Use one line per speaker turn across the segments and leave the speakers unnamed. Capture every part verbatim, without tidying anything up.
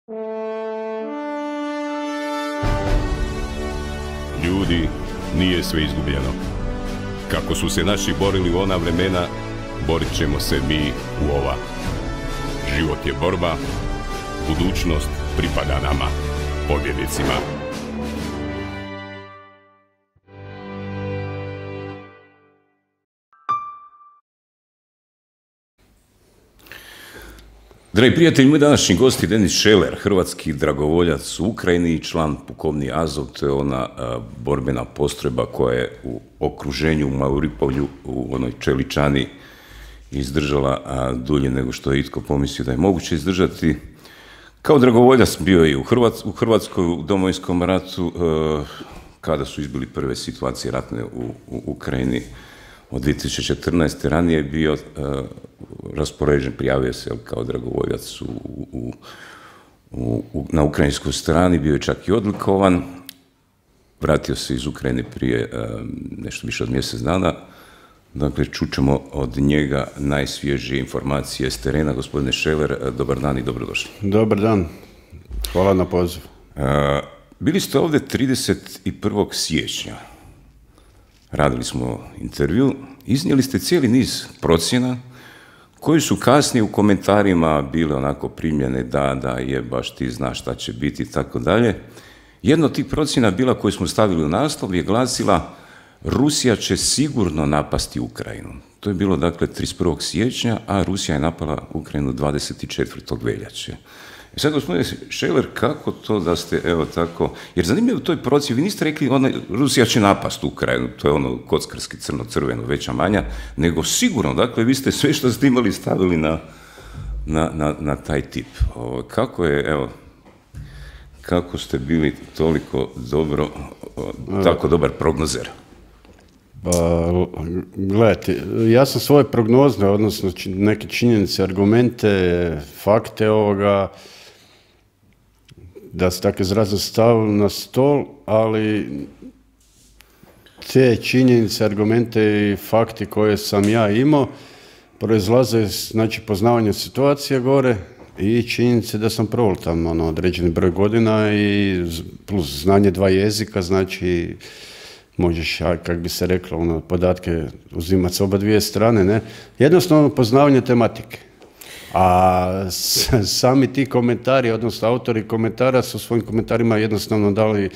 Ljudi, nije sve izgubljeno. Kako su se naši borili u ona vremena, borit ćemo se mi u ova. Život je borba, budućnost pripada nama, pobjednicima. Dragi prijatelji, moj današnji gost je Denis Šeler, hrvatski dragovoljac u Ukrajini i član pukovnije Azov. To je ona a, borbena postrojba koja je u okruženju u Mariupolju, u onoj Čeličani, izdržala a, dulje nego što je itko pomislio da je moguće izdržati. Kao dragovoljac bio je u, Hrvat, u Hrvatskoj u Domovinskom ratu, a, kada su izbili prve situacije ratne u, u Ukrajini. Od dvije tisuće četrnaeste. ranije je bio uh, raspoređen, prijavio se kao dragovoljac u, u, u, u, na ukrajinskoj strani, bio je čak i odlikovan. Vratio se iz Ukrajine prije uh, nešto više od mjesec dana. Dakle, čućemo od njega najsvježije informacije s terena. Gospodine Šeler, uh, dobar dan i dobrodošli.
Dobar dan, hvala na poziv.
Uh, bili ste ovdje trideset prvog siječnja. Radili smo intervju, iznijeli ste cijeli niz procjena koji su kasnije u komentarima bile onako primljene da, da je baš ti znaš šta će biti i tako dalje. Jedna od tih procjena bila koju smo stavili u naslov je glasila Rusija će sigurno napasti Ukrajinu. To je bilo dakle trideset prvog siječnja, a Rusija je napala Ukrajinu dvadeset četvrtog veljače. I sad, gospodine Šeler, kako to da ste, evo tako, jer zanimljivo u toj procjeni, vi niste rekli ona, Rusija će napast Ukrajinu, to je ono kockarski crno-crveno, veća manja, nego sigurno, dakle, vi ste sve što ste imali stavili na, na, na, na taj tip. O, kako je, evo, kako ste bili toliko dobro, o, tako dobar prognozer?
Pa, gledajte, ja sam svoje prognoze, odnosno neke činjenice, argumente, fakte ovoga, da se tako izrazim, stavili na stol, ali te činjenice, argumente i fakti koje sam ja imao proizlaze, znači, poznavanje situacije gore i činjenice da sam proveo tamo ono, određeni broj godina i plus znanje dva jezika, znači možeš, kako bi se reklo, ono, podatke uzimati s oba dvije strane, ne? Jednostavno poznavanje tematike. A sami ti komentari, odnosno autori komentara su svojim komentarima jednostavno dali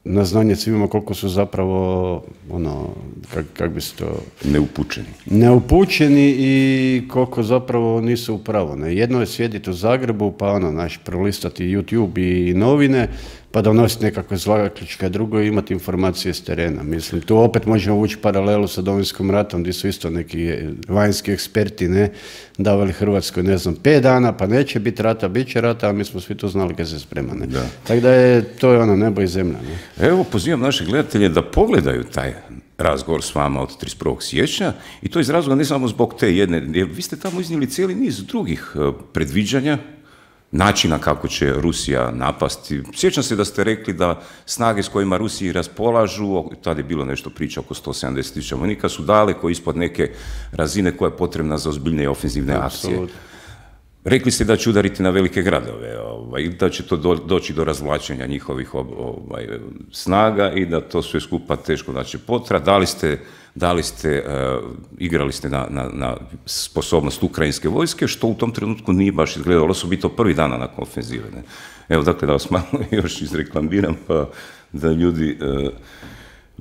na znanje svima koliko su zapravo, ono, kako kak bi se to...
Neupućeni.
Neupućeni i koliko zapravo nisu u pravu. Ne? Jedno je sjediti u Zagrebu, pa ono, znaš, prolistati YouTube i novine, pa donositi nekakve zaključke, drugo imati informacije s terena. Mislim, tu opet možemo ući paralelu sa Domovinskim ratom, gdje su isto neki vanjski eksperti, ne, davali Hrvatskoj, ne znam, pet dana, pa neće biti rata, bit će rata, a mi smo svi to znali kad se sprema, ne. Da. Tako da je, to je ono nebo i zemlja, ne.
Evo, pozivam naše gledatelje da pogledaju taj razgovor s vama od trideset prvog siječnja i to iz razloga ne samo zbog te jedne, jer vi ste tamo iznijeli cijeli niz drugih predviđanja, načina kako će Rusija napasti. Sjećam se da ste rekli da snage s kojima Rusiji raspolažu, tada je bilo nešto priča oko sto sedamdeset tisuća vojnika, su daleko ispod neke razine koja je potrebna za ozbiljne ofenzivne akcije. Absolut. Rekli ste da će udariti na velike gradove, ovaj, da će to do, doći do razvlačenja njihovih ovaj, snaga i da to sve skupa teško da će potra. Dali ste, dali ste uh, igrali ste na, na, na sposobnost ukrajinske vojske, što u tom trenutku nije baš izgledalo, osobito prvi dana nakon ofenzive. Ne? Evo, dakle, da vas malo još izreklamiram, pa da ljudi uh,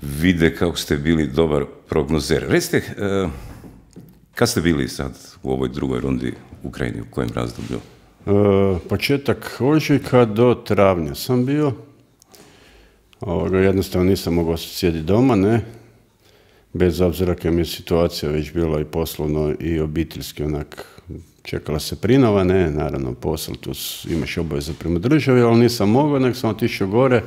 vide kako ste bili dobar prognozer. Recite, uh, kad ste bili sad u ovoj drugoj rundi u Ukrajini, u kojem razdoblju?
E, početak ožujka do travnja sam bio. Ovoga, jednostavno nisam mogao sjediti doma, ne. Bez obzira kad mi je situacija već bila i poslovno i obiteljski, onak, čekala se prinova, ne, naravno posao, tu imaš obaveze prema državi, ali nisam mogao, nek sam otišao gore.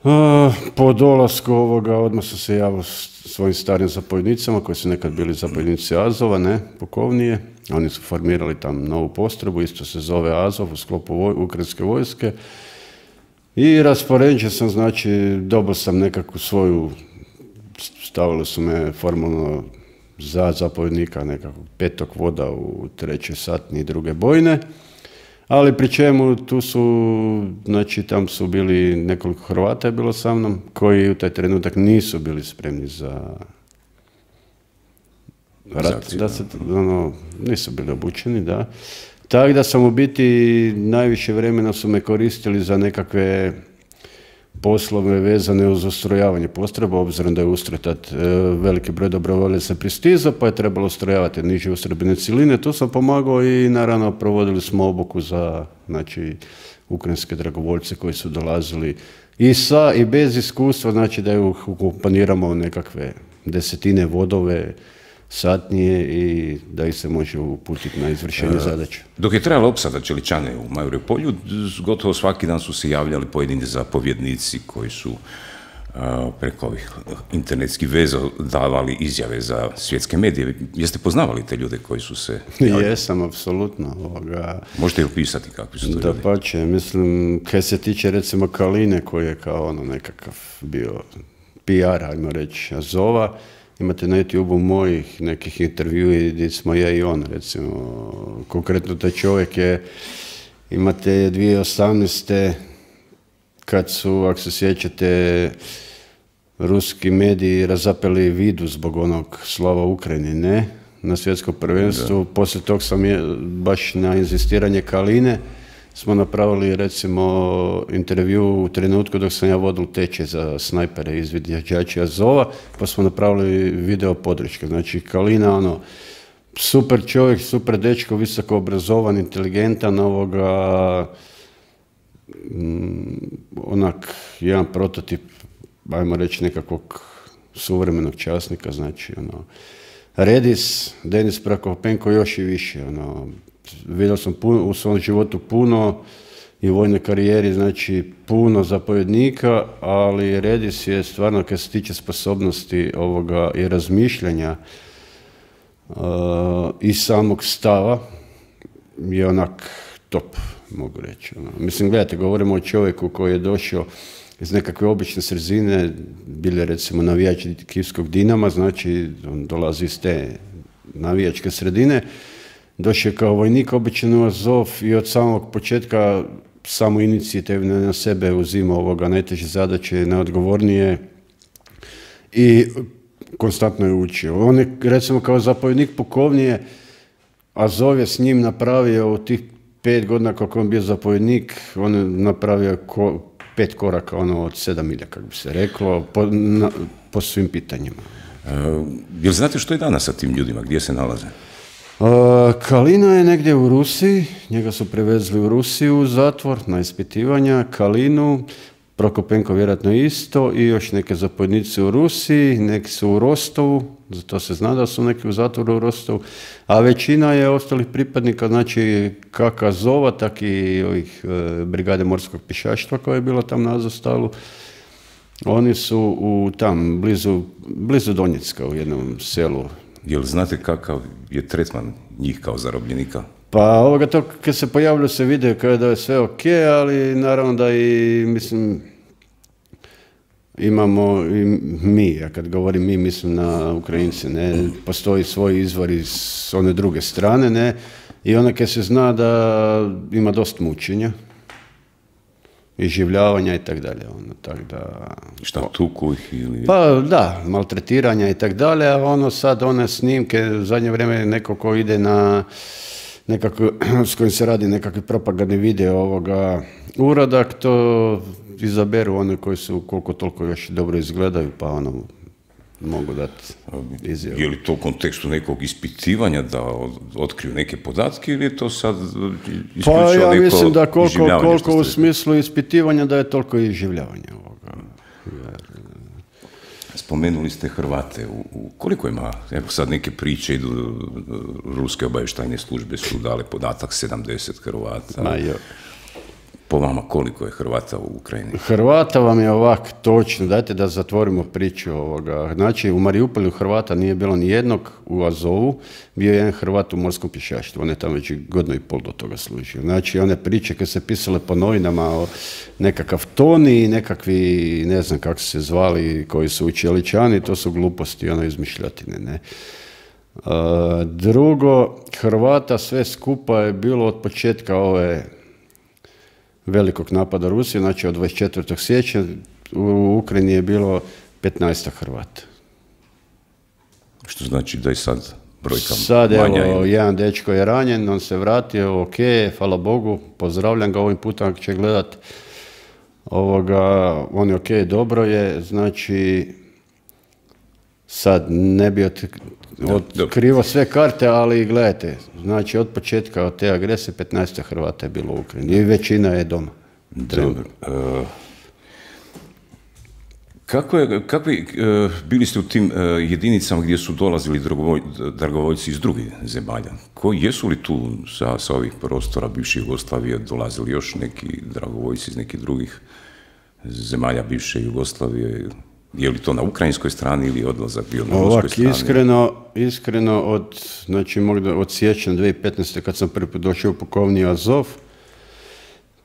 Uh, po dolasku ovoga odmah sam se javio svojim starim zapovjednicama koji su nekad bili zapovjednici Azova, ne, pukovnije. Oni su formirali tam novu postrojbu, isto se zove Azov u sklopu voj, ukrajinske vojske. I raspoređen sam, znači, dobio sam nekakvu svoju, stavili su me formalno za zapovjednika nekakvog petog voda u trećoj satni i druge bojne. Ali pri čemu tu su, znači tam su bili nekoliko Hrvata je bilo sa mnom, koji u taj trenutak nisu bili spremni za rat, da se, ono, nisu bili obučeni, da. Tako da sam u biti, najviše vremena su me koristili za nekakve poslove vezane uz ustrojavanje postrojba, obzirom da je ustroj tad e, veliki broj dobrovoljaca pristizao, pa je trebalo ustrojavati niže ustrojbene ciline. Tu sam pomagao i naravno provodili smo obuku za, znači, ukrajinske dragovoljce koji su dolazili i sa i bez iskustva, znači da ih ukomponiramo nekakve desetine vodove, satnije i da ih se može uputiti na izvršenje zadaća.
Dok je trajala opsada Čeličane u Mariupolju, gotovo svaki dan su se javljali pojedini zapovjednici koji su a, preko ovih internetskih veza davali izjave za svjetske medije. Jeste poznavali te ljude koji su se javljali?
Jesam, apsolutno. Ovoga...
Možete li opisati kakvi su to ljudi?
Da pače, mislim, kaj se tiče recimo Kaline koji je kao ono nekakav bio P R, ajmo reći, Azova, imate na YouTube-u mojih nekih intervjua gdje smo ja i on, recimo, konkretno taj čovjek je, imate dvije tisuće osamnaeste kad su, ako se sjećate, ruski mediji razapeli Vidu zbog onog slova Ukrajini, ne, na svjetskom prvenstvu, poslije tog sam je, baš na inzistiranje Kaline, smo napravili recimo intervju u trenutku dok sam ja vodil tečaj za snajpere iz izviđača Azova, pa smo napravili video podrške. Znači Kalina, ono, super čovjek, super dečko, visoko obrazovan, inteligentan, ovoga, mm, onak, jedan prototip, ajmo reći, nekakvog suvremenog časnika, znači, ono, Redis, Denis Prakopenko još i više, ono, vidio sam puno, u svom životu puno i u vojnoj karijeri, znači puno zapovjednika, ali Redis je stvarno, kad se tiče sposobnosti ovoga i razmišljanja uh, i samog stava, je onak top, mogu reći. Ono. Mislim, gledajte, govorimo o čovjeku koji je došao iz nekakve obične sredine, bili recimo navijači Kijevskog Dinama, znači on dolazi iz te navijačke sredine, došao je kao vojnik običan u Azov i od samog početka samo inicijativno na sebe uzima ovoga najteže zadaće, najodgovornije i konstantno je učio. On je recimo kao zapovjednik pukovnije, Azov je s njim napravio u tih pet godina kako on bio zapovjednik, on je napravio ko, pet koraka ono, od sedam milja, kako bi se reklo, po, na, po svim pitanjima.
Uh, jel znate što je danas sa tim ljudima, gdje se nalaze?
Uh, Kalina je negdje u Rusiji, njega su prevezli u Rusiju u zatvor na ispitivanja, Kalinu, Prokopenko vjerojatno isto i još neke zapovjednici u Rusiji, neki su u Rostovu, zato se zna da su neki u zatvoru u Rostovu, a većina je ostalih pripadnika, znači kako Azova, tak i ovih e, brigade morskog pješaštva koja je bila tam na Azostalu. Oni su u tam, blizu, blizu Donjecka u jednom selu.
Jel znate kakav je tretman njih kao zarobljenika?
Pa ovoga to kad se pojavljaju se vide kao da je sve ok, ali naravno da i, mislim, imamo i mi, ja kad govorim mi, mislim na Ukrajince, ne, postoji svoj izvor iz one druge strane, ne, i onda kad se zna da ima dosta mučenja, iživljavanja i tak dalje, ono, tak da...
Šta, tuku ih ili...
Pa da, maltretiranja i tak dalje, a ono sad, one snimke, u zadnje vrijeme neko ko ide na nekako, s kojim se radi nekakvi propagandni video ovoga uradak, to izaberu one koji su koliko toliko još dobro izgledaju, pa ono, mogu dati izjavu.
Je li to u kontekstu nekog ispitivanja da otkriju neke podatke ili je to sad isključivo
pa, ja
neko
mislim da koliko, koliko u
ste...
smislu ispitivanja da je toliko i iživljavanja ovoga. Jer...
Spomenuli ste Hrvate. U, u, koliko ima, evo sad neke priče idu, ruske obavještajne službe su dale podatak sedamdeset Hrvata.
Ma jo.
Po vama koliko je Hrvata u Ukrajini?
Hrvata vam je ovak točno, dajte da zatvorimo priču ovoga. Znači u Mariupolju Hrvata nije bilo ni jednog, u Azovu bio je jedan Hrvat u morskom pješaštvu, on je tamo već godinu i pol do toga služio. Znači one priče kad se pisale po novinama o nekakav Toni, nekakvi, ne znam kako se zvali, koji su Čeličani, to su gluposti, ono izmišljotine, ne. Uh, drugo, Hrvata sve skupa je bilo od početka ove velikog napada Rusije, znači od dvadeset četvrtog siječnja u Ukrajini je bilo petnaest Hrvata.
Što znači da je sad brojka
sad,
manja?
Evo, jedan dečko je ranjen, on se vratio, ok, hvala Bogu, pozdravljam ga ovim putem ako će gledat. Ovoga, on je ok, dobro je, znači sad ne bi od, otkrivo sve karte, ali gledajte, znači od početka od te agresije petnaest Hrvata je bilo u Ukrajini i većina je doma.
Dobro. Uh, kako je, kakvi, uh, bili ste u tim uh, jedinicama gdje su dolazili dragovoj, dragovoljci iz drugih zemalja? Koji, jesu li tu sa, sa ovih prostora bivše Jugoslavije dolazili još neki dragovoljci iz nekih drugih zemalja bivše Jugoslavije? Je li to na ukrajinskoj strani ili odlazak bio na ruskoj strani?
Iskreno, iskreno od, znači, od siječnja dvije tisuće petnaeste kad sam prvi put došao u pukovniju Azov,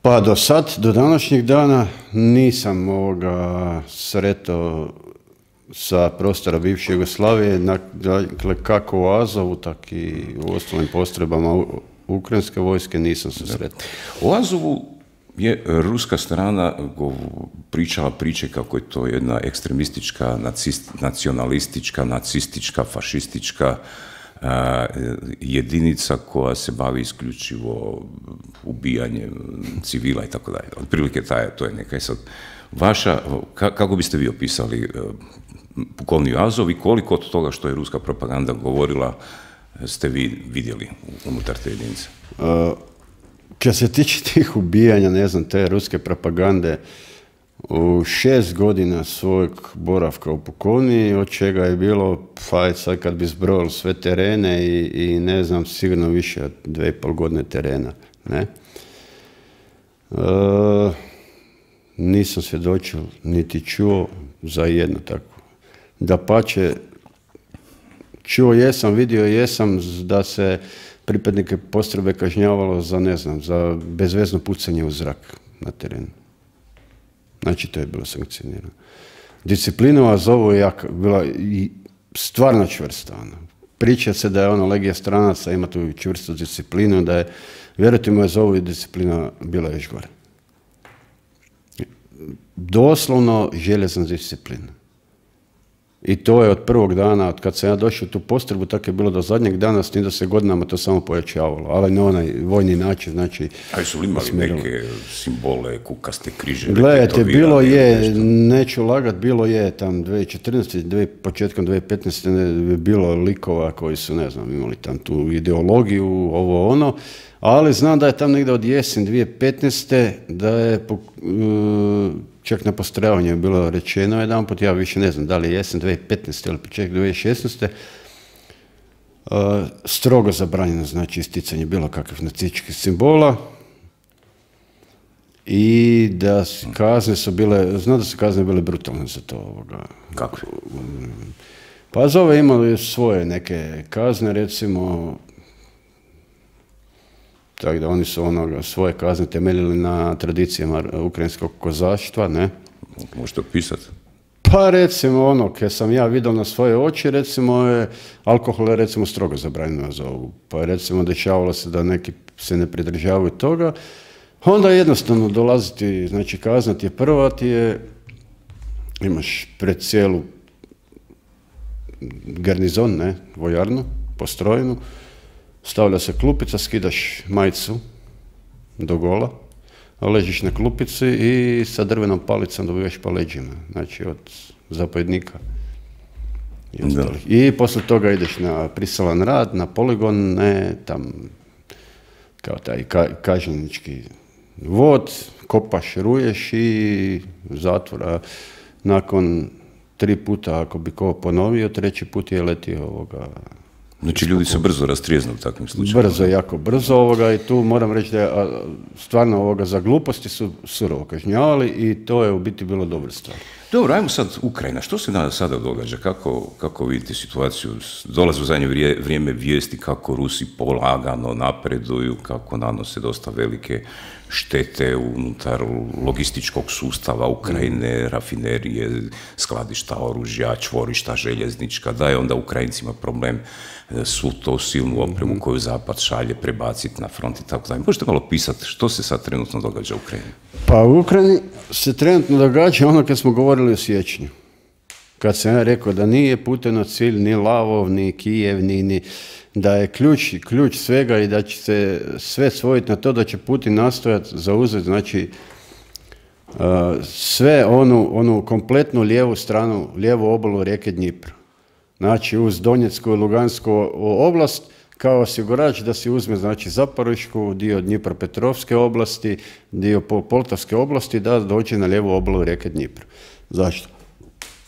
pa do sad, do današnjeg dana, nisam ovoga sretao sa prostora bivše Jugoslavije, dakle kako u Azovu, tak i u ostalim postrojbama ukrajinske vojske nisam se sretao.
U Azovu je ruska strana pričala priče kako je to jedna ekstremistička, nacist, nacionalistička, nacistička, fašistička a, jedinica koja se bavi isključivo ubijanjem civila i tako dalje. Otprilike to je neka. Sad, vaša, ka, kako biste vi opisali pukovniju Azov i koliko od toga što je ruska propaganda govorila ste vi vidjeli unutar te jedinice?
Uh, Kad se tiče tih ubijanja, ne znam, te ruske propagande, u šest godina svojeg boravka u pukovniji, od čega je bilo, pa sad kad bi zbrojili sve terene i, i ne znam, sigurno više od dve i pol godine terena, ne? E, nisam svjedočio, niti čuo za jedno tako. Dapače, čuo jesam, vidio jesam da se pripadnike postrojbe kažnjavalo za, ne znam, za bezvezno pucanje u zrak na terenu. Znači, to je bilo sankcionirano. Disciplina u Azovu je jaka, bila i stvarno čvrsta. Ono. Priča se da je ono legija stranaca, ima tu čvrstu disciplinu, da je, vjerujte mi, u Azovu je disciplina bila još gore. Doslovno željezna disciplina. I to je od prvog dana, od kad sam ja došao u tu postrojbu, tako je bilo do zadnjeg dana, s tim da se godinama to samo pojačavalo, ali na onaj vojni način, znači...
A su li imali smjerilo neke simbole, kukaste križe?
Gledajte, bilo je, nešto? Neću lagat, bilo je tam dvije tisuće četrnaeste. Dvije, početkom dvije tisuće petnaeste. Ne, bilo likova koji su, ne znam, imali tam tu ideologiju, ovo ono, ali znam da je tam negdje od jesen dvije tisuće petnaeste. da je... Uh, čak na postrojavanju je bilo rečeno jedan put, ja više ne znam da li je jesen dvije tisuće petnaeste. ili početak dvije tisuće šesnaeste. Uh, strogo zabranjeno, znači isticanje bilo kakvih nacističkih simbola i da kazne su bile, znam da su kazne bile brutalne za to. Ovoga.
Kako?
Pa Azove imali svoje neke kazne, recimo, tako da oni su onoga, svoje kazne temeljili na tradicijama ukrajinskog kozaštva, ne?
Možete opisati?
Pa recimo ono, kad sam ja vidio na svoje oči, recimo je, alkohol je recimo strogo zabranjeno za ovu. Pa recimo dešavalo se da neki se ne pridržavaju toga. Onda jednostavno dolaziti, znači kazna ti je prva, ti je, imaš pred cijelu garnizon, ne, vojarnu, postrojenu, stavlja se klupica, skidaš majicu do gola, ležiš na klupici i sa drvenom palicom dobivaš po leđima, znači od zapovjednika i ostalih. I poslije toga ideš na prisilan rad, na poligon, ne, tam, kao taj ka, kažnjenički vod, kopaš, ruješ i zatvora. Nakon tri puta, ako bi ko ponovio, treći put je letio ovoga.
Znači ljudi se brzo rastrijeznu u takvim slučajima.
Brzo, jako brzo ovoga i tu moram reći da je stvarno ovoga za gluposti su surovo kažnjavali i to je u biti bilo dobra stvar.
Dobro, ajmo sad Ukrajina. Što se danas sada događa? Kako, kako vidite situaciju? Dolaze u zadnje vrijeme vijesti kako Rusi polagano napreduju, kako nanose dosta velike štete unutar logističkog sustava Ukrajine, rafinerije, skladišta oružja, čvorišta željeznička, da je onda Ukrajincima problem svu to silnu opremu koju Zapad šalje prebaciti na front i tako dalje. Možete malo pisati što se sad trenutno događa u Ukrajini?
Pa u Ukrajini se trenutno događa ono kad smo govorili o siječnju. Kad sam ja rekao da nije Putinov cilj ni Lavov, ni Kijev, ni, ni da je ključ, ključ svega i da će se sve svojiti na to da će Putin nastojati zauzeti, znači, uh, sve onu, onu kompletnu lijevu stranu, lijevu obalu rijeke Dnjipra. Znači, uz Donjecku i Lugansku oblast, kao osigurač da si uzme, znači, Zaporišku, dio Dnjipropetrovske oblasti, dio Poltavske oblasti, da dođe na lijevu obalu rijeke Dnjipra. Zašto?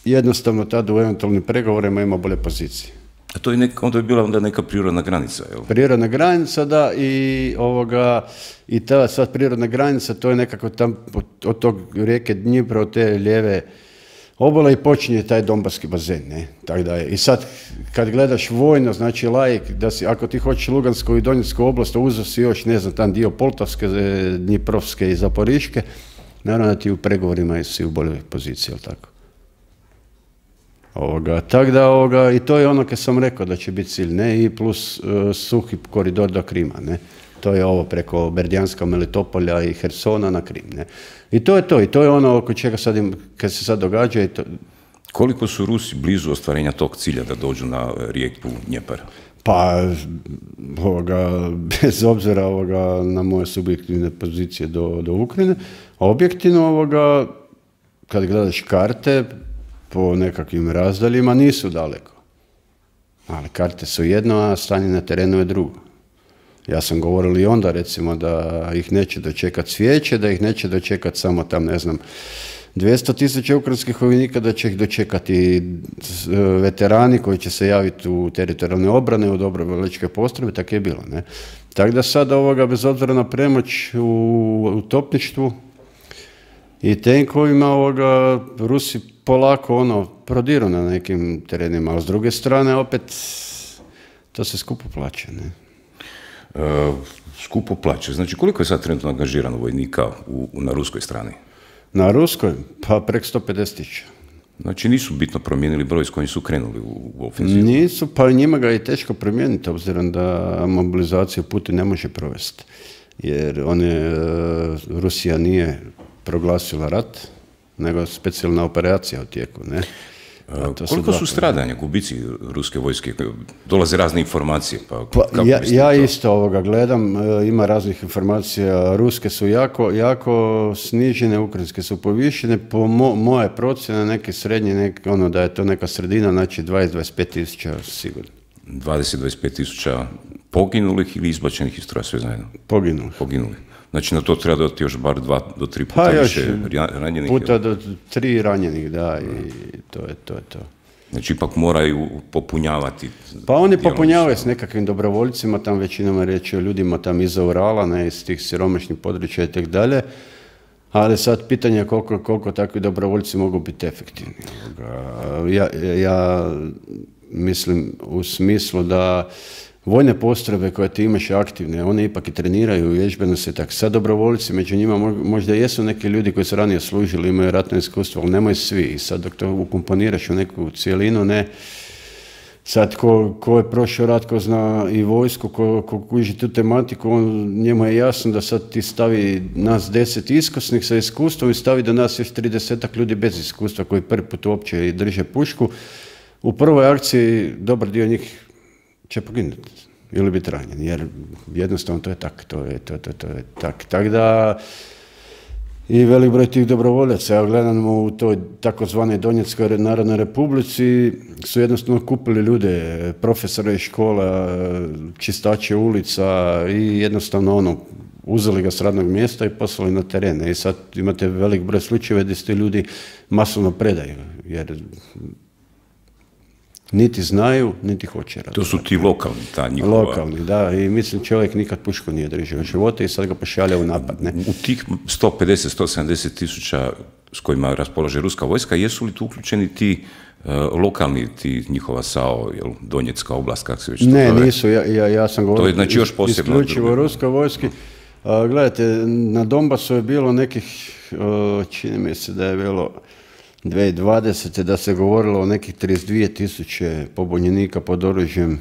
Jednostavno tada u eventualnim pregovorima ima bolje pozicije.
A to je nek, onda je bila onda neka prirodna granica, jel?
Prirodna granica, da, i ovoga, i ta sad prirodna granica, to je nekako tam od tog rijeke Dnjipra, od te lijeve obale i počinje taj Donbaski bazen, ne? Tako da je. I sad, kad gledaš vojno, znači laik, da si, ako ti hoćeš Lugansku i Donjecku oblast, uzeo si još, ne znam, tam dio Poltavske, Dnjiprovske i Zaporiške, naravno da ti u pregovorima si u boljoj poziciji, jel tako? Ovoga, tak da, ovoga, i to je ono kad sam rekao da će biti cilj, ne, i plus uh, suhi koridor do Krima, ne. To je ovo preko Berdjanska, Melitopolja i Hersona na Krim, ne. I to je to, i to je ono oko čega sad im, kad se sad događa i to...
Koliko su Rusi blizu ostvarenja tog cilja da dođu na rijeku Dnjepar?
Pa, ovoga, bez obzira ovoga, na moje subjektivne pozicije do, do Ukrajine, objektivno, ovoga, kad gledaš karte, po nekakvim razdaljima nisu daleko. Ali karte su jedno, a stanje na terenu je drugo. Ja sam govoril i onda, recimo, da ih neće dočekati svijeće, da ih neće dočekati samo tam, ne znam, dvjesto tisuća ukrajinskih vojnika, da će ih dočekati veterani koji će se javiti u teritorijalne obrane, u dobrovoljačke postrojbe, tako je bilo, ne. Tako da sad ovoga, bez obzira na premoć u, u topništvu i tenkovima, ovoga, Rusi polako ono prodiru na nekim terenima, a s druge strane opet to se skupo plaća, ne?
E, skupo plaća. Znači, koliko je sad trenutno angažirano vojnika u, na ruskoj strani?
Na ruskoj? Pa preko sto pedeset tisuća.
Znači, nisu bitno promijenili broj s kojim su krenuli u, u ofenzivu?
Nisu, pa njima ga je teško promijeniti, obzirom da mobilizaciju Putin ne može provesti. Jer on je, Rusija nije proglasila rat, nego specijalna operacija u tijeku, ne?
To koliko su, su stradanja, gubici ruske vojske? Dolaze razne informacije, pa,
pa
kako
ja, ja
to?
isto ovoga gledam, ima raznih informacija, ruske su jako, jako snižene, ukrajinske su povišene, po mo, moje procjene, neke srednje, neke, ono da je to neka sredina, znači dvadeset do dvadeset pet tisuća sigurno.
dvadeset do dvadeset pet tisuća poginulih ili izbačenih iz stroja, sve zajedno?
Poginulih.
Poginulih. Znači, na to treba dodati još bar dva do tri puta
pa
više ranjenih.
Puta do tri ranjenih, da, i to je to. Je to.
Znači, ipak moraju popunjavati.
Pa oni popunjavaju s nekakvim dobrovoljcima, tam većinom je reći o ljudima tam iza Urala, ne, iz tih siromašnih područja i tak dalje, ali sad pitanje je koliko, koliko takvi dobrovoljci mogu biti efektivni. Ja, ja mislim u smislu da vojne postrojbe koje ti imaš aktivne, one ipak i treniraju, vježbeno se tak. Sad dobrovoljci, među njima možda jesu neki ljudi koji su ranije služili, imaju ratno iskustvo, ali nemaju svi. I sad dok to ukomponiraš u neku cijelinu, ne, sad ko, ko je prošao rat, ko zna i vojsku, ko, ko kuži tu tematiku, on, njemu je jasno da sad ti stavi nas deset iskusnih sa iskustvom i stavi do nas još tridesetak ljudi bez iskustva koji prvi put uopće i drže pušku. U prvoj akciji dobar dio njih će poginuti ili biti ranjen, jer jednostavno to je tak, to je, to, to, to je tak. Tako da i velik broj tih dobrovoljaca, ja gledamo u toj takozvanoj Donjeckoj narodnoj republici, su jednostavno kupili ljude, profesore iz škola, čistače ulica i jednostavno ono, uzeli ga s radnog mjesta i poslali na teren. I sad imate velik broj slučajeva gdje se ljudi masovno predaju, jer niti znaju, niti hoće raditi.
To su ti lokalni, ta njihova...
Lokalni, da, i mislim čovjek nikad pušku nije držao u života i sad ga pošalja u napad, ne?
U tih sto pedeset do sto sedamdeset tisuća s kojima raspolaže ruska vojska, jesu li tu uključeni ti uh, lokalni, ti njihova S A O, jel, Donjecka oblast, kako se već to
Ne,
zove?
nisu, ja, ja, ja sam govorio
To je znači još posebno
isključivo
drugo.
ruskoj vojski. A, gledajte, na Donbasu je bilo nekih, o, čini mi se da je bilo dvije tisuće dvadesete da se govorilo o nekih trideset dvije tisuće pobunjenika pod oružjem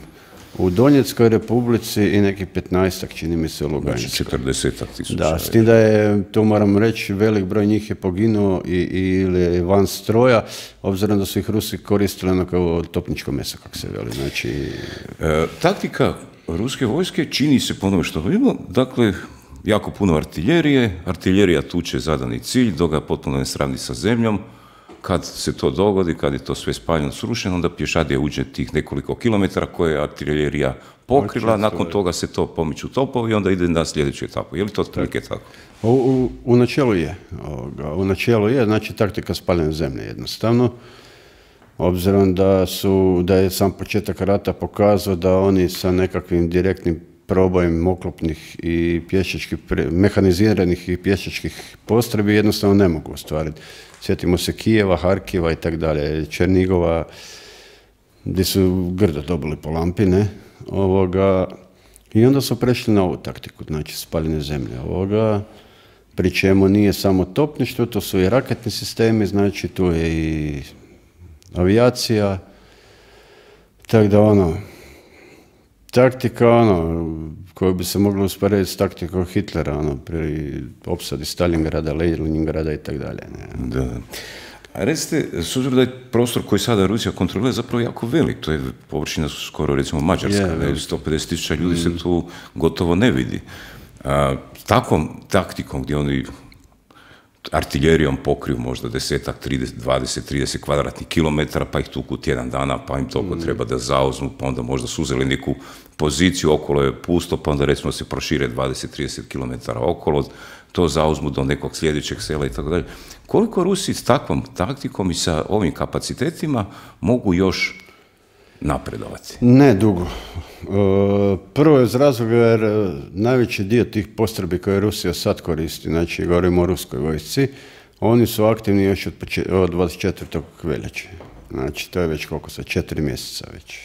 u Donjeckoj republici i nekih petnaestak, čini mi se, u Luganskoj.
Znači četrdesetak tisuća.
Da, s tim da je, tu moram reći, velik broj njih je poginuo i, i, ili van stroja, obzirom da su ih Rusi koristili ono kao topničko meso, kako se veli. Znači...
E, taktika ruske vojske čini se po onome što vidimo, dakle, jako puno artiljerije, artiljerija tuče zadani cilj, dok ga potpuno ne sravni sa zemljom. Kad se to dogodi, kad je to sve spaljeno, srušeno, onda pješadija uđe tih nekoliko kilometara koje je artiljerija pokrila, nakon toga se to pomiču topovi i onda ide na sljedeću etapu. Je li to otprilike tako?
U, u, u načelu je. Ovoga, u načelu je, znači taktika spaljene zemlje jednostavno. Obzirom da, su, da je sam početak rata pokazao da oni sa nekakvim direktnim probojem oklopnih i pješačkih, mehaniziranih i pješačkih postrojbi jednostavno ne mogu ostvariti. Sjetimo se Kijeva, Harkiva i tako dalje, Černigova, gdje su grdo dobili po lampi, ne? Ovoga, i onda su prešli na ovu taktiku, znači spaljene zemlje. Ovoga, pri čemu nije samo topništvo, to su i raketni sistemi, znači tu je i avijacija, tako da ono, taktika ono, koju bi se moglo usporediti s taktikom Hitlera, ono, pri opsadi Stalingrada, Leningrada i tako dalje.
Da. A recite, s obzirom da je prostor koji sada Rusija kontrolira zapravo jako velik, to je površina skoro recimo Mađarska, yeah, sto pedeset tisuća ljudi mm. se tu gotovo ne vidi. A, takvom taktikom gdje oni artiljerijom pokriju možda desetak, trideset, dvadeset, trideset kvadratnih kilometara, pa ih tuku tjedan dana, pa im toliko mm. treba da zauzmu, pa onda možda su uzeli neku poziciju, okolo je pusto, pa onda recimo se prošire dvadeset, trideset kilometara okolo, to zauzmu do nekog sljedećeg sela i tako dalje. Koliko Rusi s takvom taktikom i sa ovim kapacitetima mogu još napredovati?
Ne dugo. Prvo je iz razloga jer najveći dio tih postrojbi koje Rusija sad koristi, znači govorimo o ruskoj vojsci, oni su aktivni još od, od dvadeset četvrtog veljače. Znači to je već koliko sad, četiri mjeseca već.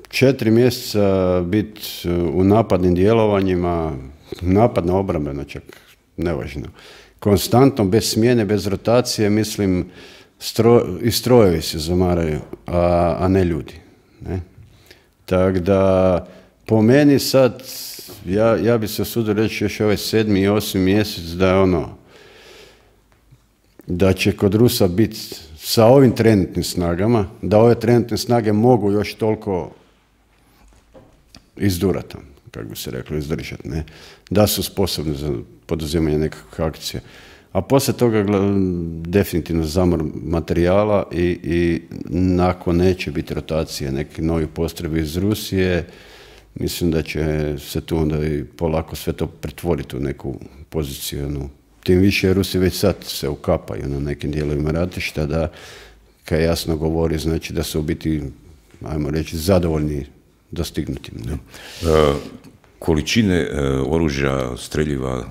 Četiri mjeseca biti u napadnim djelovanjima, napadna obrambena čak, nevažno. Konstantno, bez smjene, bez rotacije, mislim, Stro, i strojevi se zamaraju, a, a ne ljudi. Ne? Tako da, po meni sad, ja, ja bi se usudio reći još ovaj sedmi i osmi mjesec da je ono, da će kod Rusa biti sa ovim trenutnim snagama, da ove trenutne snage mogu još toliko izdurati, kako bi se reklo, izdržati, ne? Da su sposobni za poduzimanje nekakvih akcija. A poslije toga definitivno zamor materijala i, i nakon neće biti rotacije nekih novih postrojbi iz Rusije, mislim da će se tu onda i polako sve to pretvoriti u neku poziciju. No. Tim više Rusi već sad se ukapaju na nekim dijelovima ratišta, da kaj jasno govori, znači da su u biti, ajmo reći, zadovoljni dostignutim. Ne?
E, količine e, oružja, streljiva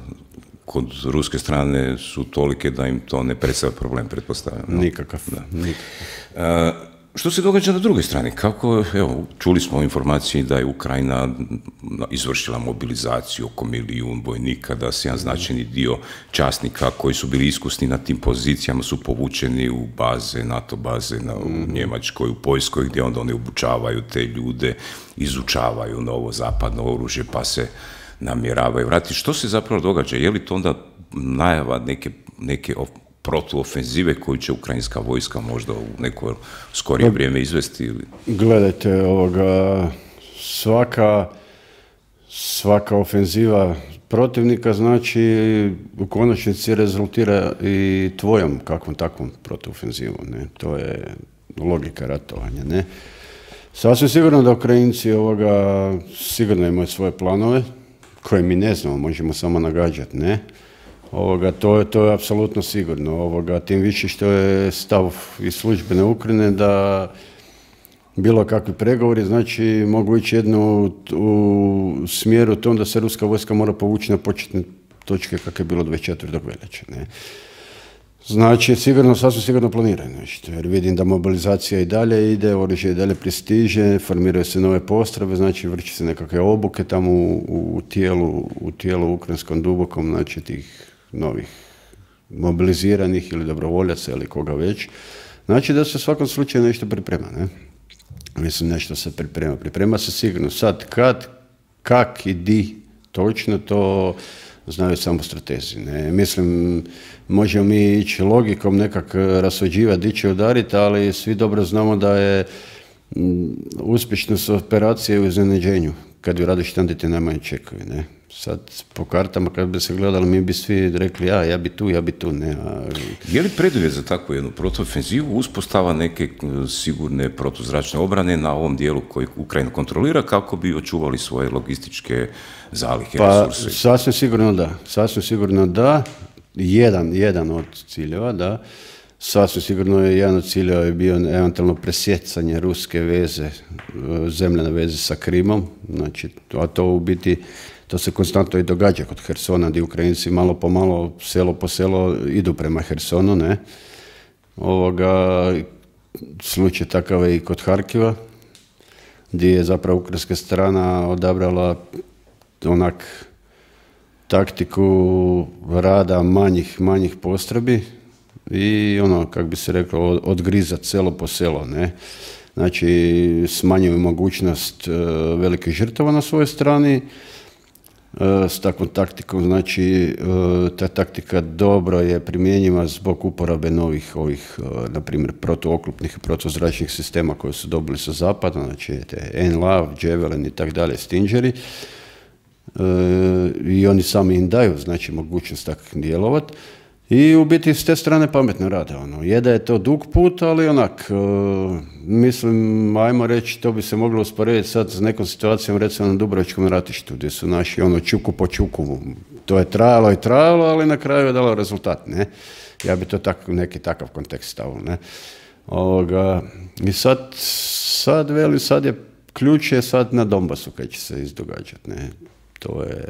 kod ruske strane su tolike da im to ne predstavlja problem, pretpostavljam. No?
Nikakav. Da. Nikakav.
E, što se događa na drugoj strani? Kako, evo, čuli smo informaciji da je Ukrajina izvršila mobilizaciju oko milijun vojnika, da se jedan značajni dio časnika koji su bili iskusni na tim pozicijama su povučeni u baze, NATO baze na, u mm. Njemačkoj, u Poljskoj, gdje onda oni obučavaju te ljude, izučavaju novo zapadno oružje, pa se namjeravaju vratiti. Što se zapravo događa? Je li to onda najava neke, neke protuofenzive koju će ukrajinska vojska možda u neko skorije vrijeme izvesti? Ili?
Gledajte, ovoga, svaka, svaka ofenziva protivnika znači u konačnici rezultira i tvojom kakvom takvom protuofenzivom. Ne? To je logika ratovanja. Ne? Sasvim sigurno da Ukrajinci ovoga, sigurno imaju svoje planove koje mi ne znamo, možemo samo nagađati, ne? Ovoga, to je, to je apsolutno sigurno. Ovoga, tim više što je stav iz službene Ukrajine da bilo kakvi pregovori, znači mogu ići jedno u, u smjeru tom da se ruska vojska mora povući na početne točke kako je bilo dvadeset četvrtog veljače. Ne. Znači, sigurno, sasvim sigurno planiraju nešto, jer vidim da mobilizacija i dalje ide, oružje i dalje pristiže, formiraju se nove postrojbe, znači vrši se nekakve obuke tamo u, u, tijelu, u tijelu ukrajinskom dubokom, znači tih novih mobiliziranih ili dobrovoljaca ili koga već. Znači da se u svakom slučaju nešto priprema, ne? Mislim, nešto se priprema. Priprema se sigurno. Sad, kad, kak i di, točno to znaju samo stratezi. Ne? Mislim, možemo mi ići logikom nekak rasuđivati, di će udariti, ali svi dobro znamo da je m, uspješnost operacije u iznenađenju. Kad ju radiš, tam ti najmanje čekaju. Ne? Sad, po kartama, kad bi se gledali, mi bi svi rekli, ja, ja bi tu, ja bi tu, ne. A...
Je li preduvjet za takvu jednu protuofenzivu uspostava neke sigurne protuzračne obrane na ovom dijelu koji Ukrajina kontrolira kako bi očuvali svoje logističke zalihe,
pa,
resurse?
Sasvim sigurno da. Sasvim sigurno da. Jedan, jedan od ciljeva, da. Sasvim sigurno je jedan od ciljeva je bio eventualno presjecanje ruske veze, zemljane veze sa Krimom, znači, a to u biti to se konstantno i događa kod Hersona, gdje Ukrajinci malo po malo, selo po selo idu prema Hersonu, ne. Ovoga, slučaj takav je i kod Harkiva, gdje je zapravo ukrajinska strana odabrala onak taktiku rada manjih, manjih postrojbi i ono, kako bi se reklo, odgrizat selo po selo, ne. Znači, smanjuju mogućnost uh, velikih žrtava na svojoj strani, s takvom taktikom, znači ta taktika dobro je primjenjiva zbog uporabe novih ovih, na primjer, protuoklopnih i protuzračnih sistema koje su dobili sa zapada, znači te Enlav, Javelin i tak dalje, Stingeri, i oni sami im daju, znači, mogućnost tako djelovati. I u biti s te strane pametno rade. Ono. Je da je to dug put, ali onak, uh, mislim, ajmo reći, to bi se moglo usporediti sad s nekom situacijom, recimo na Dubrovačkom ratištu, gdje su naši ono čuku po čuku. To je trajalo i trajalo, ali na kraju je dalo rezultat, ne? Ja bi to tak, neki takav kontekst stavio, ne? Ovoga, i sad, sad veli, sad je ključ je sad na Donbasu kad će se izdogađati, ne? To je,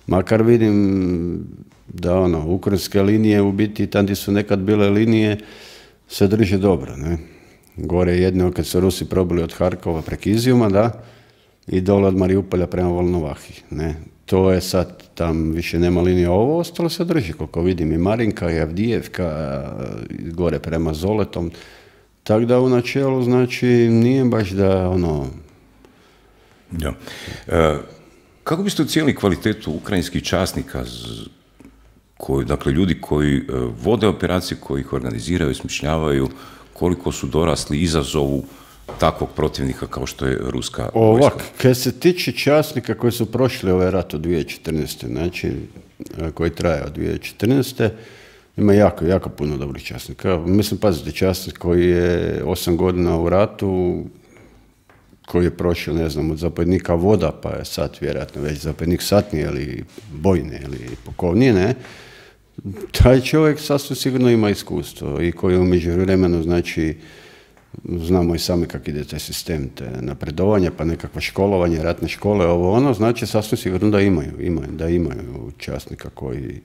makar vidim da ono, ukrajinske linije u biti, tam gdje su nekad bile linije, se drže dobro, ne. Gore jedno kad su Rusi probili od Harkova prek Izijuma, da, i dole od Mariupolja prema Volnovahi, ne. To je sad, tam više nema linije, ovo ostalo se drži, koliko vidim, i Marinka, i Avdijevka, gore prema Zoletom, tako da u načelu, znači, nije baš da, ono...
Ja. E, kako biste ocijenili kvalitetu ukrajinskih časnika, koji, dakle, ljudi koji uh, vode operacije, koji ih organiziraju, smišljavaju, koliko su dorasli izazovu takvog protivnika kao što je ruska vojska?
Ovak, kad se tiče časnika koji su prošli ovaj rat od dvije tisuće četrnaeste. znači, koji traje od dvije tisuće četrnaeste. ima jako, jako puno dobrih časnika. Mislim, pazite, časnik koji je osam godina u ratu, koji je prošao, ne znam, od zapovjednika voda, pa je sad vjerojatno već zapovjednik satnije ili bojne ili pukovnije, ne, taj čovjek sasvim sigurno ima iskustvo i koji u međuvremenu, znači, znamo i sami kako ide taj sistem, te napredovanje, pa nekakvo školovanje, ratne škole, ovo ono, znači sasvim sigurno da imaju, imaju da imaju časnika koji,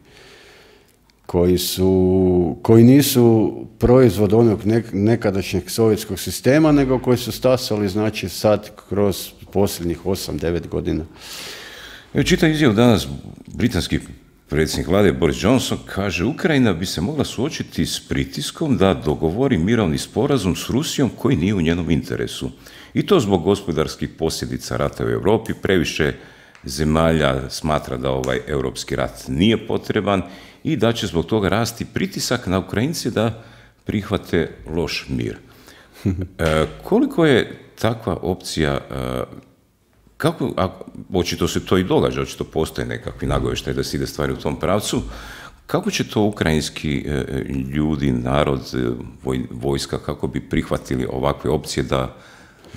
koji su, koji nisu proizvod onog nek, nekadašnjeg sovjetskog sistema, nego koji su stasali, znači, sad kroz posljednjih osam devet godina.
Evo, čitam izjavu danas, britanski predsjednik vlade Boris Johnson kaže: Ukrajina bi se mogla suočiti s pritiskom da dogovori mirovni sporazum s Rusijom koji nije u njenom interesu. I to zbog gospodarskih posljedica rata u Europi. Previše zemalja smatra da ovaj europski rat nije potreban i da će zbog toga rasti pritisak na Ukrajince da prihvate loš mir. E, koliko je takva opcija, e, kako, a, očito se to i događa, očito postoje nekakvi nagovještaji da se ide stvari u tom pravcu, kako će to ukrajinski e, ljudi, narod, voj, vojska, kako bi prihvatili ovakve opcije da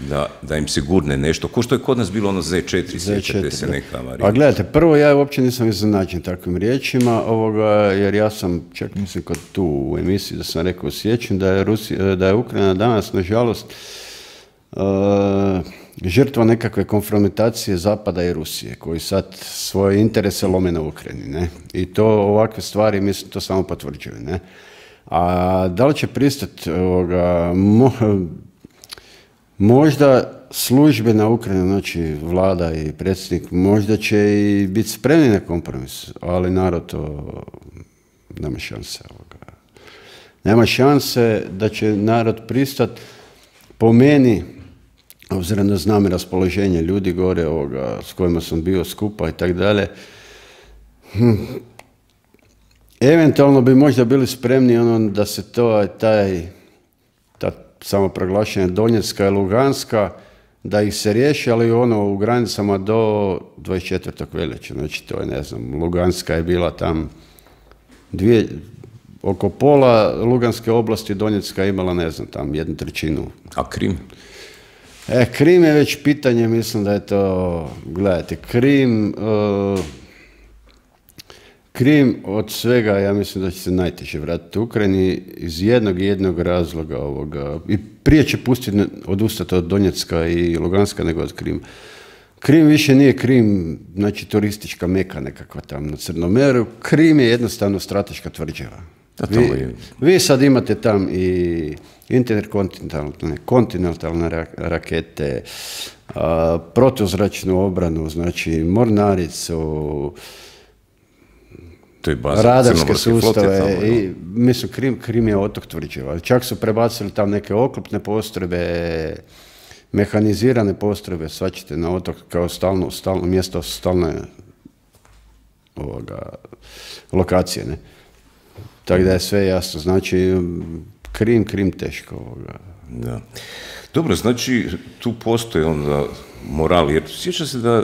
Da, da im se gurne nešto, ko što je kod nas bilo ono Z četiri, sjećate se neka Marija.
A gledajte, prvo ja uopće nisam iznenađen takvim riječima, ovoga, jer ja sam, čak mislim kod tu u emisiji da sam rekao, sjećam da je, Rusija, da je Ukrajina danas, nažalost, uh, žrtva nekakve konfrontacije Zapada i Rusije, koji sad svoje interese lome na Ukrajini, ne? I to ovakve stvari, mislim, to samo potvrđuju, ne? A da li će pristati ovoga, mo, možda službe na Ukrajini, znači vlada i predsjednik, možda će i biti spremni na kompromis, ali narod to nema šanse. Ovoga. Nema šanse da će narod pristati. Po meni, obzirom da znam i raspoloženje ljudi gore ovoga, s kojima sam bio skupa i tako dalje, hm, eventualno bi možda bili spremni ono da se to, taj, ta samoproglašenja Donjecka i Luganska, da ih se riješi, ali ono u granicama do dvadeset četvrtog veljače. Znači to je, ne znam, Luganska je bila tam dvije, oko pola Luganske oblasti, Donjecka je imala, ne znam, tam jednu trećinu.
A Krim?
E, Krim je već pitanje, mislim da je to, gledajte, Krim, uh, Krim od svega, ja mislim da će se najteže vratiti u Ukrajini iz jednog jednog razloga ovoga. I prije će pustiti odustati od Donjecka i Luganska nego od Krima. Krim više nije Krim, znači turistička meka nekakva tam na Crnom moru. Krim je jednostavno strateška tvrđava. Vi, vi sad imate tam i interkontinentalne kontinentalne rakete, a, protuzračnu obranu, znači mornaricu, radarske sustave. Flote, i, mislim, Krim, Krim je otok tvrđava. Čak su prebacili tam neke oklopne postrojbe, mehanizirane postrojbe, svačite na otok kao stalno, stalno mjesto, stalne ovoga, lokacije, ne? Tako da je sve jasno. Znači, Krim, Krim teško. Ovoga.
Da. Dobro, znači, tu postoji onda moral, jer sjeća se da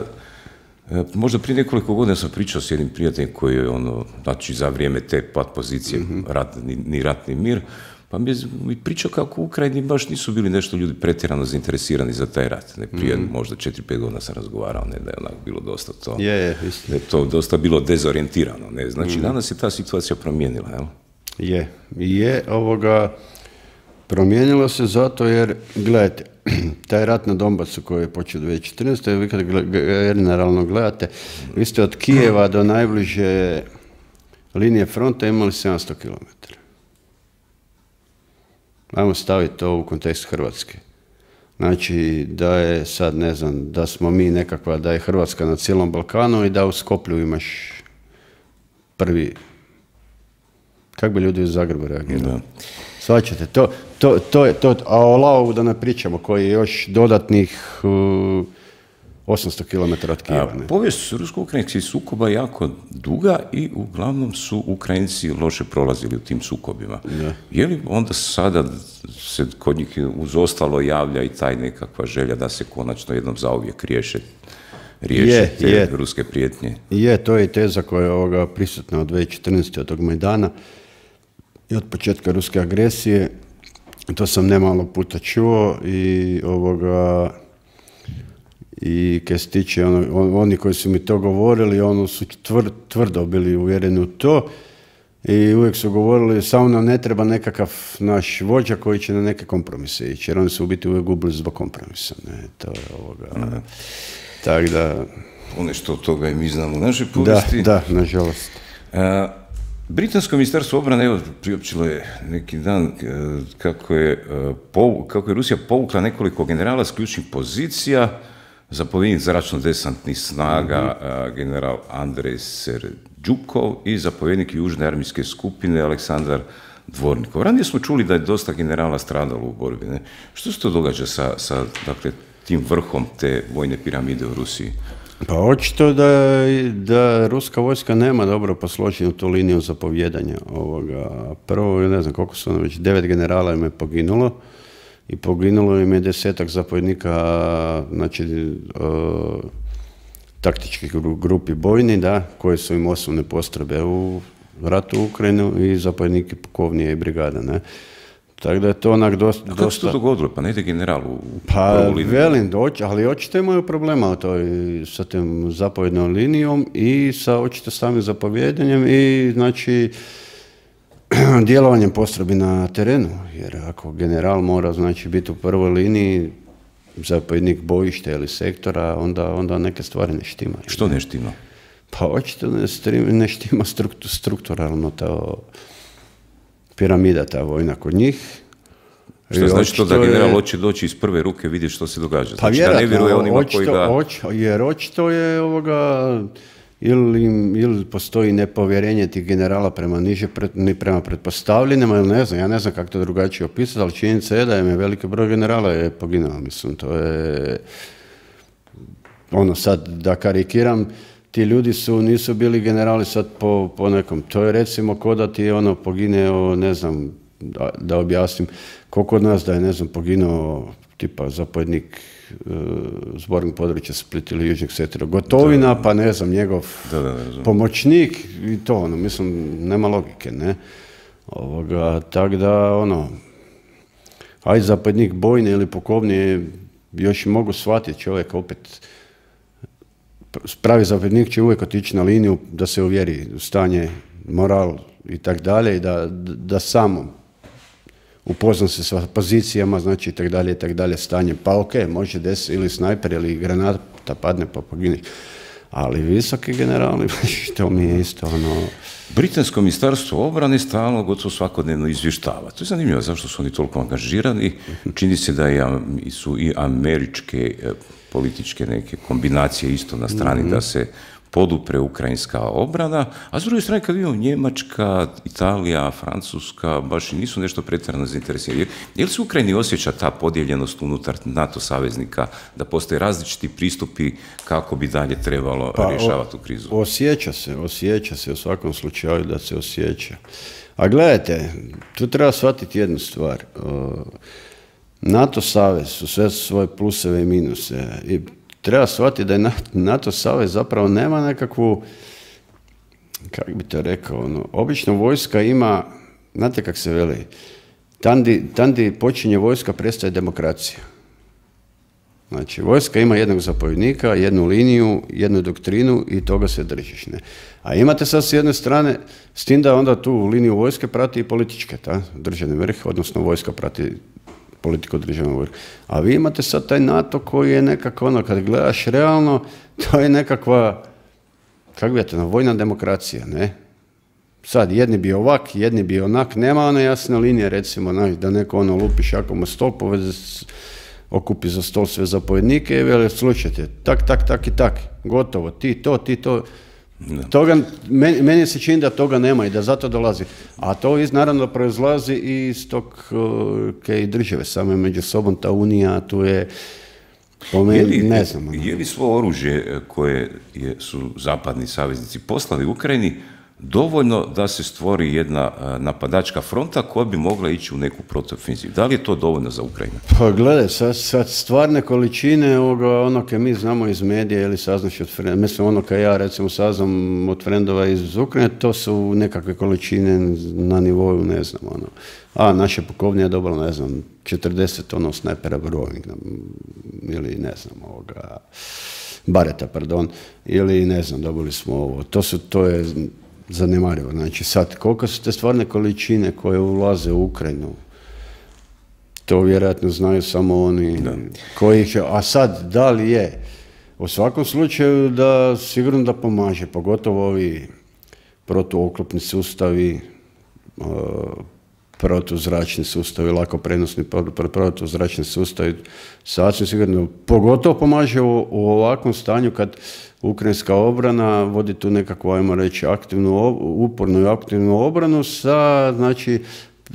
možda prije nekoliko godina sam pričao s jednim prijateljem koji je ono, znači za vrijeme te pat pozicije, mm-hmm. rat, ni, ni rat ni mir, pa mi je pričao kako u Ukrajini baš nisu bili nešto ljudi pretjerano zainteresirani za taj rat. Ne, prije mm-hmm. možda četiri pet godina sam razgovarao, ne, da je onak bilo dosta to,
je, je,
da je to dosta bilo dezorijentirano. Ne, znači mm-hmm. danas je ta situacija promijenila, jel?
Je, je ovoga, promijenilo se zato jer, gledajte, taj rat na Donbasu koji je počeo dvije tisuće četrnaeste. vi kad generalno gledate, vi ste od Kijeva do najbliže linije fronta imali sedamsto kilometara. Ajmo staviti to u kontekst Hrvatske. Znači da je sad, ne znam, da smo mi nekakva, da je Hrvatska na cijelom Balkanu i da u Skoplju imaš prvi. Kako bi ljudi u Zagrebu reagirali? Svačate, to, to, to je to, a o Laovu da ne pričamo, koji je još dodatnih uh, osamsto kilometara od Kijeva.
Ne? Povijest rusko-ukrajinskih sukoba je jako duga i uglavnom su Ukrajinci loše prolazili u tim sukobima. Da. Je li onda sada se kod njih uz ostalo javlja i taj nekakva želja da se konačno jednom zauvijek riješe, riješe je, te je. ruske prijetnje?
Je, to je teza koja je ovoga prisutna od dvije tisuće četrnaeste. od tog Majdana i od početka ruske agresije. To sam nemalo puta čuo i ovoga i kaj se tiče ono, oni koji su mi to govorili, ono su tvr, tvrdo bili uvjereni u to i uvijek su govorili samo nam ne treba nekakav naš vođa koji će na neke kompromise ići, jer oni su u biti uvijek gubili zbog kompromisa. Ne, to je ovoga. Mm. Tako da...
Ponešto od toga i mi znamo u našoj povijesti.
Da, da, nažalost.
A, Britansko ministarstvo obrane, evo, priopćilo je neki dan kako je, kako je Rusija povukla nekoliko generala s ključnih pozicija, zapovjednik zračno-desantnih snaga, mm-hmm. general Andrej Serđukov i zapovjednik južne armijske skupine Aleksandar Dvornikov. Ranije smo čuli da je dosta generala stradalo u borbi. Ne? Što se to događa sa, sa dakle, tim vrhom te vojne piramide u Rusiji?
Pa očito da, da ruska vojska nema dobro posloženu tu liniju zapovjedanja. Ovoga. Prvo, ne znam koliko su ono već, devet generala im je poginulo i poginulo im je desetak zapovjednika, znači uh, taktičkih grupi bojni, da, koje su im osnovne postrojbe u ratu u Ukrajinu i zapovjedniki pukovnije i brigada, ne. Tako da je to onak dosta...
A kako se to dogodilo? Pa ne ide general u
pa, prvu liniju? Velim, doći, ali očito imaju problema to i sa tim zapovjednom linijom i sa očito samim zapovjedanjem i znači djelovanjem postrojbi na terenu. Jer ako general mora znači biti u prvoj liniji, zapovjednik bojišta ili sektora, onda, onda neke stvari ne štimaju.
Što ne štima?
Pa očito ne, ne štima struktu, strukturalno ta piramida, ta vojna kod njih.
Što znači to da general je... hoće doći iz prve ruke vidjeti što se događa?
Pa
znači da ne vjeruje onima
očito,
koji ga...
Očito, jer očito je ovoga... Ili, ili postoji nepovjerenje tih generala prema niže, ni prema pretpostavljenima, ili ne znam, ja ne znam kako to drugačije opisati, ali činjenica je da je veliki broj generala je poginuo, mislim, to je, ono sad, da karikiram, ti ljudi su, nisu bili generali sad po, po nekom, to je recimo ko da ti ono pogineo, ne znam, da, da objasnim, koliko od nas da je, ne znam, poginuo tipa zapovjednik zbornog područja Split ili Južnog sektora Gotovina, da, pa ne znam, njegov da, da, da, pomoćnik i to, ono, mislim, nema logike, ne? Ovoga, tak da, ono, aj zapovjednik bojne ili pukovnije, još i mogu shvatiti čovjek opet, pravi zapovjednik će uvijek otići na liniju da se uvjeri u stanje, moral i tak dalje, i da, da samo upozna se sa pozicijama, znači i tak dalje, i tak dalje, stanje. Pa ok, može desiti ili snajper ili granata padne pa pogine. Ali visoki generali, što mi je isto ono...
Britansko ministarstvo obrane stalno gotovo svakodnevno izvještava. To je zanimljivo zašto su oni toliko angažirani. Čini se da je, su i američke političke neke kombinacije isto na strani mm-hmm. da se podupre ukrajinska obrana, a s druge strane kad vidimo Njemačka, Italija, Francuska, baš i nisu nešto pretjerano zainteresirani. Je li se u Ukrajini osjeća ta podijeljenost unutar NATO saveznika, da postoje različiti pristupi kako bi dalje trebalo pa, rješavati tu krizu?
Osjeća se, osjeća se u svakom slučaju da se osjeća. A gledajte, tu treba shvatiti jednu stvar. NATO savez su sve svoje pluseve i minuse i treba shvatiti da je NATO savez zapravo nema nekakvu, kako bi to rekao, ono, obično vojska ima, znate kako se veli, tandi, tandi počinje vojska, prestaje demokracija. Znači, vojska ima jednog zapovjednika, jednu liniju, jednu doktrinu i toga se držiš, ne. A imate sad s jedne strane, s tim da onda tu liniju vojske prati i političke, ta, državni vrh, odnosno vojska prati politiku državnog vrha. A vi imate sad taj NATO koji je nekako ono, kad gledaš realno, to je nekakva, kako bi to, vojna demokracija, ne? Sad, jedni bi ovak, jedni bi onak, nema one jasne linije, recimo, da neko ono lupi šakom o stol, poveze, okupi za stol sve zapovjednike i veli, slušajte, tak, tak, tak i tak, gotovo, ti to, ti to. Toga, meni, meni se čini da toga nema i da zato dolazi. A to iz, naravno proizlazi iz tog uh, države, same među sobom, ta unija, tu je, po meni, je li, ne znam. Ono.
Je li svo oružje koje je, su zapadni saveznici poslali u Ukrajini dovoljno da se stvori jedna napadačka fronta koja bi mogla ići u neku protuofenzivu? Da li je to dovoljno za Ukrajinu?
Pa gledaj, sad, sad stvarne količine ovoga, ono kaj mi znamo iz medija ili saznaš od frendova, mislim ono kaj ja recimo saznam od frendova iz Ukrajine, to su nekakve količine na nivou, ne znam, ono. A naše pukovnije je dobilo, ne znam, četrdeset ono snajpera Browning, ili ne znam, ovoga, Bareta, pardon, ili ne znam, dobili smo ovo. To su, to je zanemarivo. Znači sad, koliko su te stvarne količine koje ulaze u Ukrajinu, to vjerojatno znaju samo oni da. koji će, a sad, da li je? U svakom slučaju da sigurno da pomaže, pogotovo ovi protuoklopni sustavi, uh, protuzračni sustavi, lako prenosni protuzračni sustavi, sasvim sigurno, pogotovo pomaže u, u ovakvom stanju kad ukrajinska obrana vodi tu nekakvu, ajmo reći, aktivnu, upornu i aktivnu obranu sa, znači,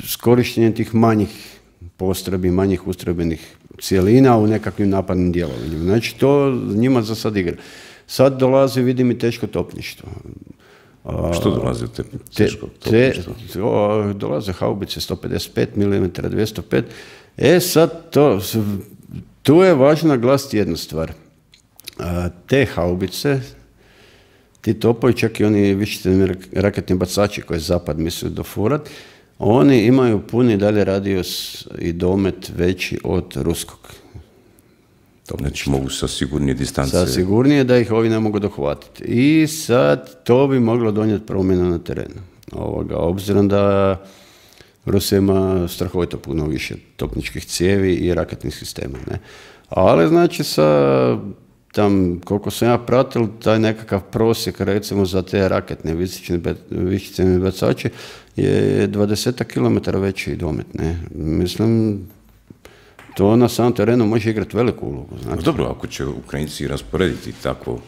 s korištenjem tih manjih postrebi, manjih ustrojbenih cijelina u nekakvim napadnim djelovanjima. Znači, to njima za sad igra. Sad dolazi, vidim, i teško topništvo.
Što dolazi u te teško topništvo?
Te, o, dolaze haubice sto pedeset pet milimetara, dvjesto pet. E, sad, to, tu je važno naglasiti jednu stvar. A, te haubice, ti topovi, čak i oni višecjevni raketni bacači koje zapad misli dofurat, oni imaju puni dalje radijus i domet veći od ruskog.
Znači mogu sa sigurnije distance.
Sa sigurnije da ih ovi ne mogu dohvatiti. I sad to bi moglo donijeti promjenu na terenu. Ovoga, obzirom da Rusija ima strahovito puno više topničkih cijevi i raketnih sistema. Ne? Ali znači sa tam, koliko sam ja pratil, taj nekakav prosjek recimo za te raketne višicene bacače je dvadeset kilometara veći domet, ne. Mislim, to na samom terenu može igrati veliku ulogu. Znači.
Dobro, ako će Ukrajinci rasporediti tako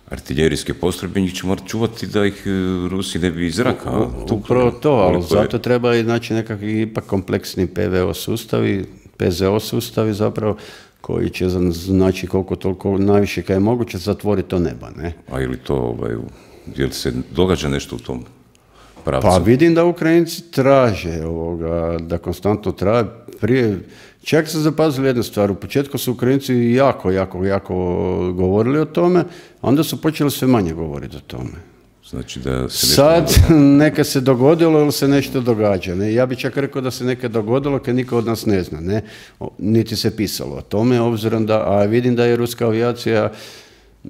artiljerijske postrojbe, njih će morati čuvati da ih Rusi ne bi iz zraka.
Upravo to, ali zato treba i znači nekakvi ipak kompleksni P V O sustavi, P Z O sustavi zapravo, koji će znači koliko toliko najviše kad je moguće zatvoriti to neba, ne?
A ili to, ovaj, je li se događa nešto u tom pravcu?
Pa vidim da Ukrajinci traže ovoga, da konstantno traje. Prije, čak su zapazili jednu stvar, u početku su Ukrajinci jako, jako, jako govorili o tome, onda su počeli sve manje govoriti o tome.
Znači da se
sad neka se dogodilo ili se nešto događa. Ne? Ja bih čak rekao da se neka dogodilo kad niko od nas ne zna. Ne? Niti se pisalo o tome, obzirom da, a vidim da je ruska avijacija,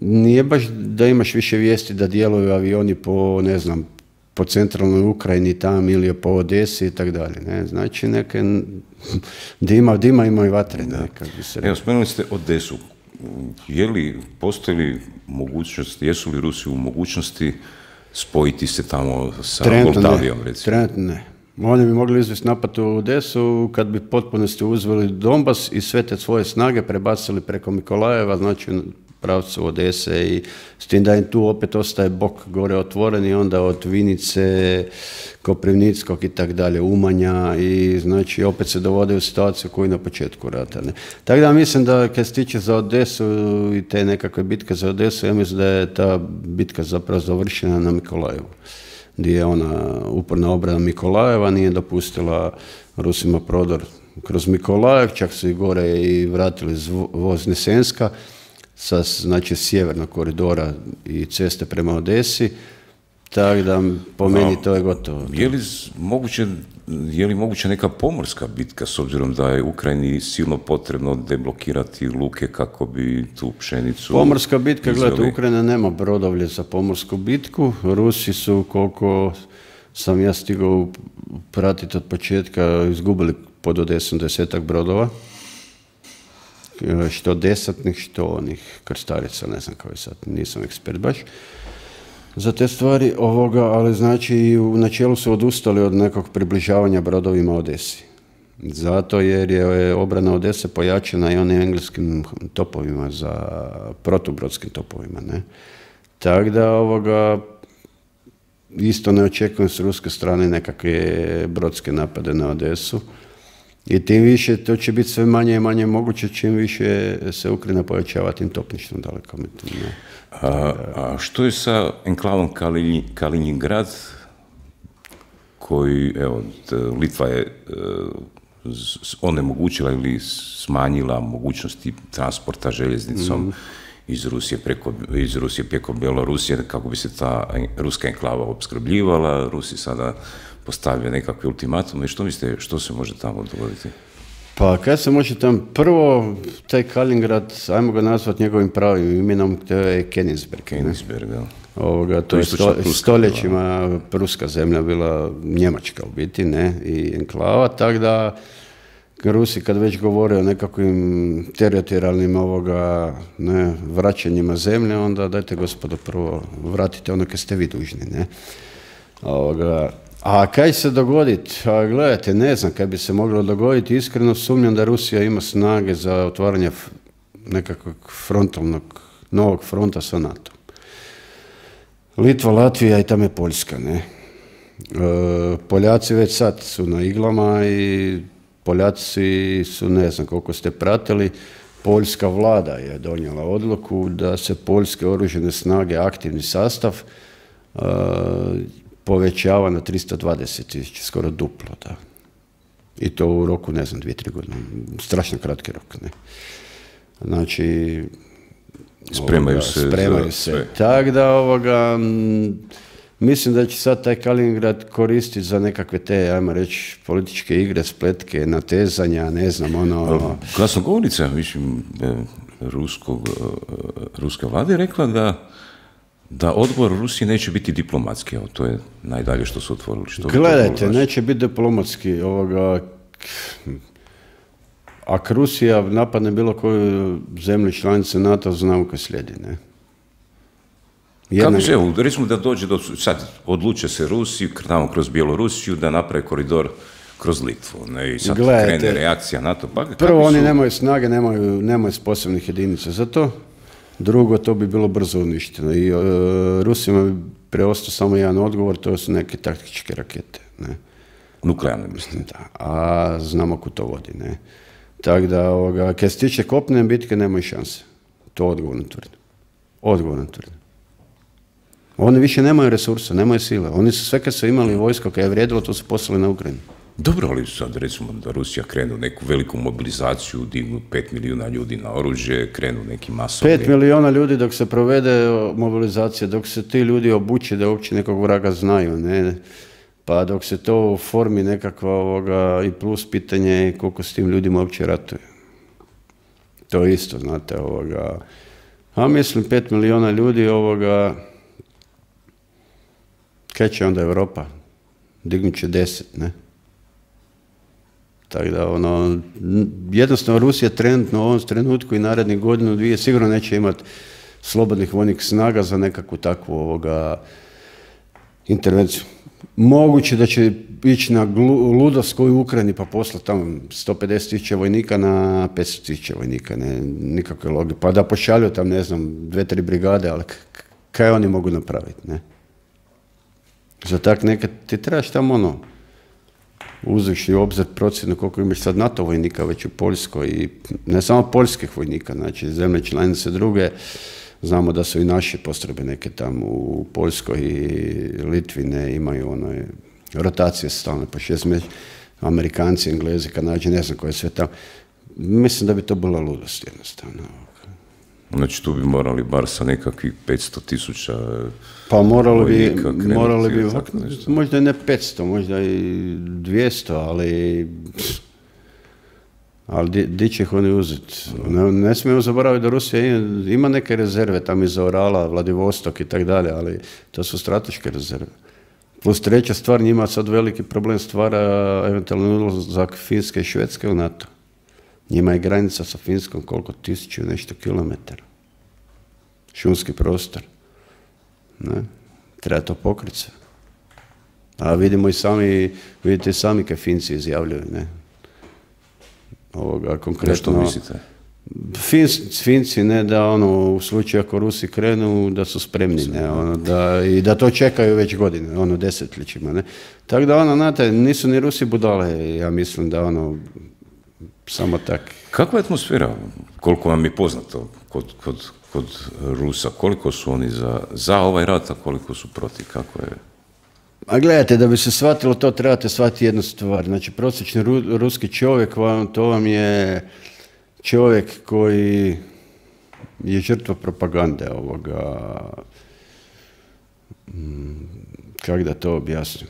nije baš da imaš više vijesti da djeluju avioni po, ne znam, po centralnoj Ukrajini tam ili po Odesi i tako dalje. Ne? Znači neke dima, dima ima i vatre. Ne? Kako bi se
Evo, spomenuli ste Odesu. Je li, postoji li mogućnost, jesu li Rusi u mogućnosti spojiti se tamo sa Moldavijom, recimo?
Trenutno ne. Oni bi mogli izvesti napad u Odesu kad bi potpunosti uzeli Donbas i sve te svoje snage prebacili preko Mikolajeva, znači pravcu Odese, i s tim da im tu opet ostaje bok gore otvoren i onda od Vinice, Koprivnickog i tak dalje, Umanja, i znači opet se dovode u situaciju koju na početku rata. Ne. Tako da mislim da kad se tiče za Odesu i te nekakve bitke za Odesu, ja mislim da je ta bitka zapravo završena na Mikolajevu, gdje je ona uporna obrana Mikolajeva nije dopustila Rusima prodor kroz Mikolajev, čak su i gore i vratili iz Voznesenska, sa znači sjevernog koridora i ceste prema Odesi, tako da po meni to je gotovo.
Je li moguće, je li moguće neka pomorska bitka, s obzirom da je Ukrajini silno potrebno deblokirati luke kako bi tu pšenicu...
Pomorska bitka, izveli. Gledajte, Ukrajina nema brodovlje za pomorsku bitku, Rusi su, koliko sam ja stigao pratiti od početka, izgubili pod Odesom desetak brodova, što desatnih, što onih krstarica, ne znam kao je sad, nisam ekspert baš za te stvari ovoga, ali znači u načelu su odustali od nekog približavanja brodovima Odesi. Zato jer je obrana Odese pojačana i onim engleskim topovima, za protubrodskim topovima, ne. Tako da ovoga isto ne očekujem s ruske strane nekakve brodske napade na Odesu. I tim više to će biti sve manje i manje moguće čim više se Ukrajina pojačava tim topništvom daleko.
A, a što je sa enklavom Kalini, Kaliningrad, koji, evo, Litva je onemogućila ili smanjila mogućnosti transporta željeznicom mm. iz Rusije preko, iz Rusije preko Belorusije, kako bi se ta ruska enklava opskrbljivala. Rusi sada postavlja nekakve ultimatume. Što mislite, što se može tamo dogoditi?
Pa kad se može tamo, prvo taj Kaliningrad, ajmo ga nazvati njegovim pravim imenom, to je Königsberg.
Königsberg, da.
Ovoga, to, to je sto, stoljećima bila. Pruska zemlja bila Njemačka u biti, ne, i enklava, tako da Rusi kad već govore o nekakvim teritorijalnim ovoga, ne, vraćanjima zemlje, onda dajte gospodo prvo vratite ono kad ste vi dužni, ne. Ovoga, a kaj se dogoditi? A gledajte, ne znam kaj bi se moglo dogoditi. Iskreno sumnjam da Rusija ima snage za otvaranje nekakvog frontalnog, novog fronta sa NATO. Litva, Latvija i tamo je Poljska, ne. E, Poljaci već sad su na iglama i Poljaci su, ne znam koliko ste pratili, poljska vlada je donijela odluku da se poljske oružane snage, aktivni sastav, e, povećava na tristo dvadeset tisuća, skoro duplo, da. I to u roku, ne znam, dvije, tri godine. Strašno kratki rok, ne. Znači,
spremaju
ovoga,
se.
Spremaju se. Tako da, ovoga, m, mislim da će sad taj Kaliningrad koristiti za nekakve te, ajmo reći, političke igre, spletke, natezanja, ne znam, ono...
Glasnogovornica, mislim, ruskog, ruska vlada je rekla da da odgovor Rusije neće biti diplomatski, evo, to je najdalje što su otvorili. Što
gledajte, neće biti diplomatski, ovoga, ako Rusija napadne bilo koju zemlju članice NATO, znamo kaj slijedi, ne?
Jedna... Kako će, evo, recimo da dođe do, sad odluče se Rusi, tamo kroz Bjelorusiju, da naprave koridor kroz Litvu, ne, i sad Gledajte, krene reakcija NATO. Pa,
prvo, oni su... nemaju snage, nemaju, nemaju sposobnih jedinica za to, drugo, to bi bilo brzo uništeno i uh, Rusima bi preostao samo jedan odgovor, to su neke taktičke rakete, ne.
Nuklearne, mislim.
Da, a znamo ko to vodi, ne. Tako da, ovoga, kad se tiče kopnene bitke, nemaju šanse. To odgovorno tvrdim. Odgovorno tvrdim. Oni više nemaju resursa, nemaju sile. Oni su sve kad su imali vojsko, kad je vrijedilo, to su poslali na Ukrajinu.
Dobro, ali sad recimo da Rusija krenu neku veliku mobilizaciju, dignu pet milijuna ljudi na oružje, krenu neki masovni...
Pet milijuna ljudi dok se provede mobilizacija, dok se ti ljudi obuče da uopće nekog vraga znaju, ne? Pa dok se to formi nekakva ovoga, i plus pitanje koliko s tim ljudima uopće ratuje. To je isto, znate, ovoga... A mislim, pet milijuna ljudi ovoga... Kaj će onda Europa? Dignut će deset, ne? Tako da, ono, jednostavno Rusija trenutno u ovom trenutku i narednih godinu, dvije, sigurno neće imati slobodnih vojnih snaga za nekakvu takvu ovoga intervenciju. Moguće da će ići na ludost koju u Ukrajini pa poslati tamo sto pedeset tisuća vojnika na petsto tisuća vojnika, ne, nikakve logike. Pa da pošalju tam, ne znam, dve, tri brigade, ali kaj oni mogu napraviti, ne? Za tak nekad ti trebaš tamo ono, uzevši u obzir procjenu koliko imaš sad NATO vojnika već u Poljskoj i ne samo poljskih vojnika, znači zemlje članice druge, znamo da su i naše postrojbe neke tamo u Poljskoj i Litvi ne imaju ono, rotacije stalne po šest mjeseci, Amerikanci, Englezi, Kanađi, ne znam koje sve tamo. Mislim da bi to bila ludost jednostavno.
Znači tu bi morali bar sa nekakvih petsto tisuća
pa morali bi, morali bi možda i ne petsto, možda i dvjesto, ali ali di, di će ih oni uzeti? Ne, ne smijemo zaboraviti da Rusija ima neke rezerve tamo iza Orala, Vladivostok i tak dalje, ali to su strateške rezerve. Plus treća stvar, njima sad veliki problem stvara eventualno ulazak Finske i Švedske u NATO. Njima je granica sa Finskom koliko tisuću nešto kilometara. Šumski prostor. Ne? Treba to pokriti se. A vidimo i sami, vidite i sami kaj Finci izjavljuju, ne? Ovoga, konkretno...
Što mislite?
Fins, Finci, ne, da ono, u slučaju ako Rusi krenu, da su spremni, ne, ono, da, i da to čekaju već godine, ono, desetljećima, ne. Tako da, ono, znate, nisu ni Rusi budale, ja mislim da, ono, samo tak.
Kakva je atmosfera, koliko vam je poznato kod, kod, kod Rusa, koliko su oni za, za ovaj rat, a koliko su protiv, kako je?
A gledajte, da bi se shvatilo to, trebate shvatiti jednu stvar. Znači, prosječni ru, ruski čovjek, vam, to vam je čovjek koji je žrtva propagande ovoga, kako da to objasnim.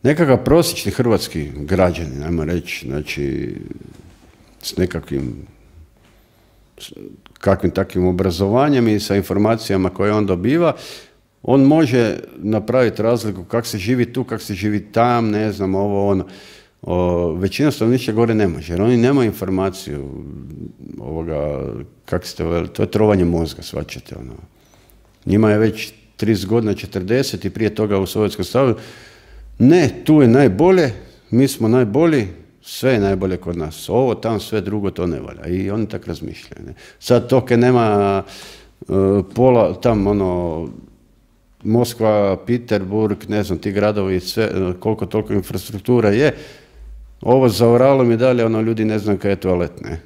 Nekakav prosječni hrvatski građanin, ajmo reći, znači, s nekakvim kakvim takvim obrazovanjem i sa informacijama koje on dobiva, on može napraviti razliku kako se živi tu, kako se živi tam, ne znam, ovo, ono. O, većina stanovništva gore ne može, jer oni nemaju informaciju ovoga, kako ste veli, to je trovanje mozga, shvaćate, ono. Njima je već trideset godina, četrdeset i prije toga u Sovjetskom savezu. Ne, tu je najbolje, mi smo najbolji, sve je najbolje kod nas. Ovo, tam, sve drugo, to ne valja. I oni tako razmišljaju. Ne? Sad to kad nema uh, pola, tam ono, Moskva, Peterburg, ne znam, ti gradovi, sve, koliko toliko infrastruktura je, ovo za Oralom i dalje, ono, ljudi ne znam kaj je toalet, ne?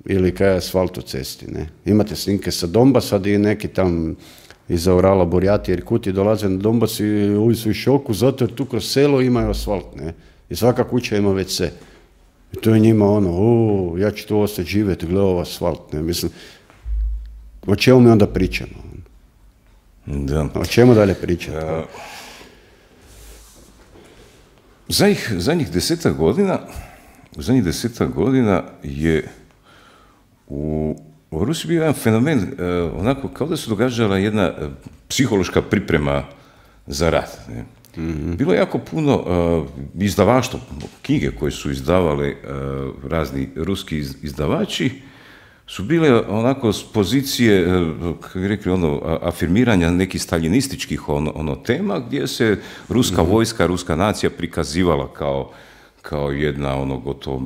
Ili kaj je asfalt u cesti, ne? Imate snimke sa Donbasa i neki tam iza Orala, Burjati, Irkuti dolaze na Donbas i ovi su u šoku zato jer tu kroz selo imaju asfalt, ne? I svaka kuća ima ve ce. I to je njima ono, o, ja ću tu ostati živjeti, gledaj ovo asfalt, ne? Mislim, o čemu mi onda pričamo?
Da.
O čemu dalje pričati?
Uh, zadnjih, zadnjih desetak godina, zadnjih desetak godina je u U Rusiji bio jedan fenomen, uh, onako kao da se događala jedna uh, psihološka priprema za rat. Ne? Mm-hmm. Bilo je jako puno uh, izdavaštva, knjige koje su izdavali uh, razni ruski izdavači, su bile onako s pozicije, kako bi rekli, ono, afirmiranja nekih staljinističkih ono, ono tema, gdje se ruska mm-hmm. vojska, ruska nacija prikazivala kao, kao jedna ono, gotovo,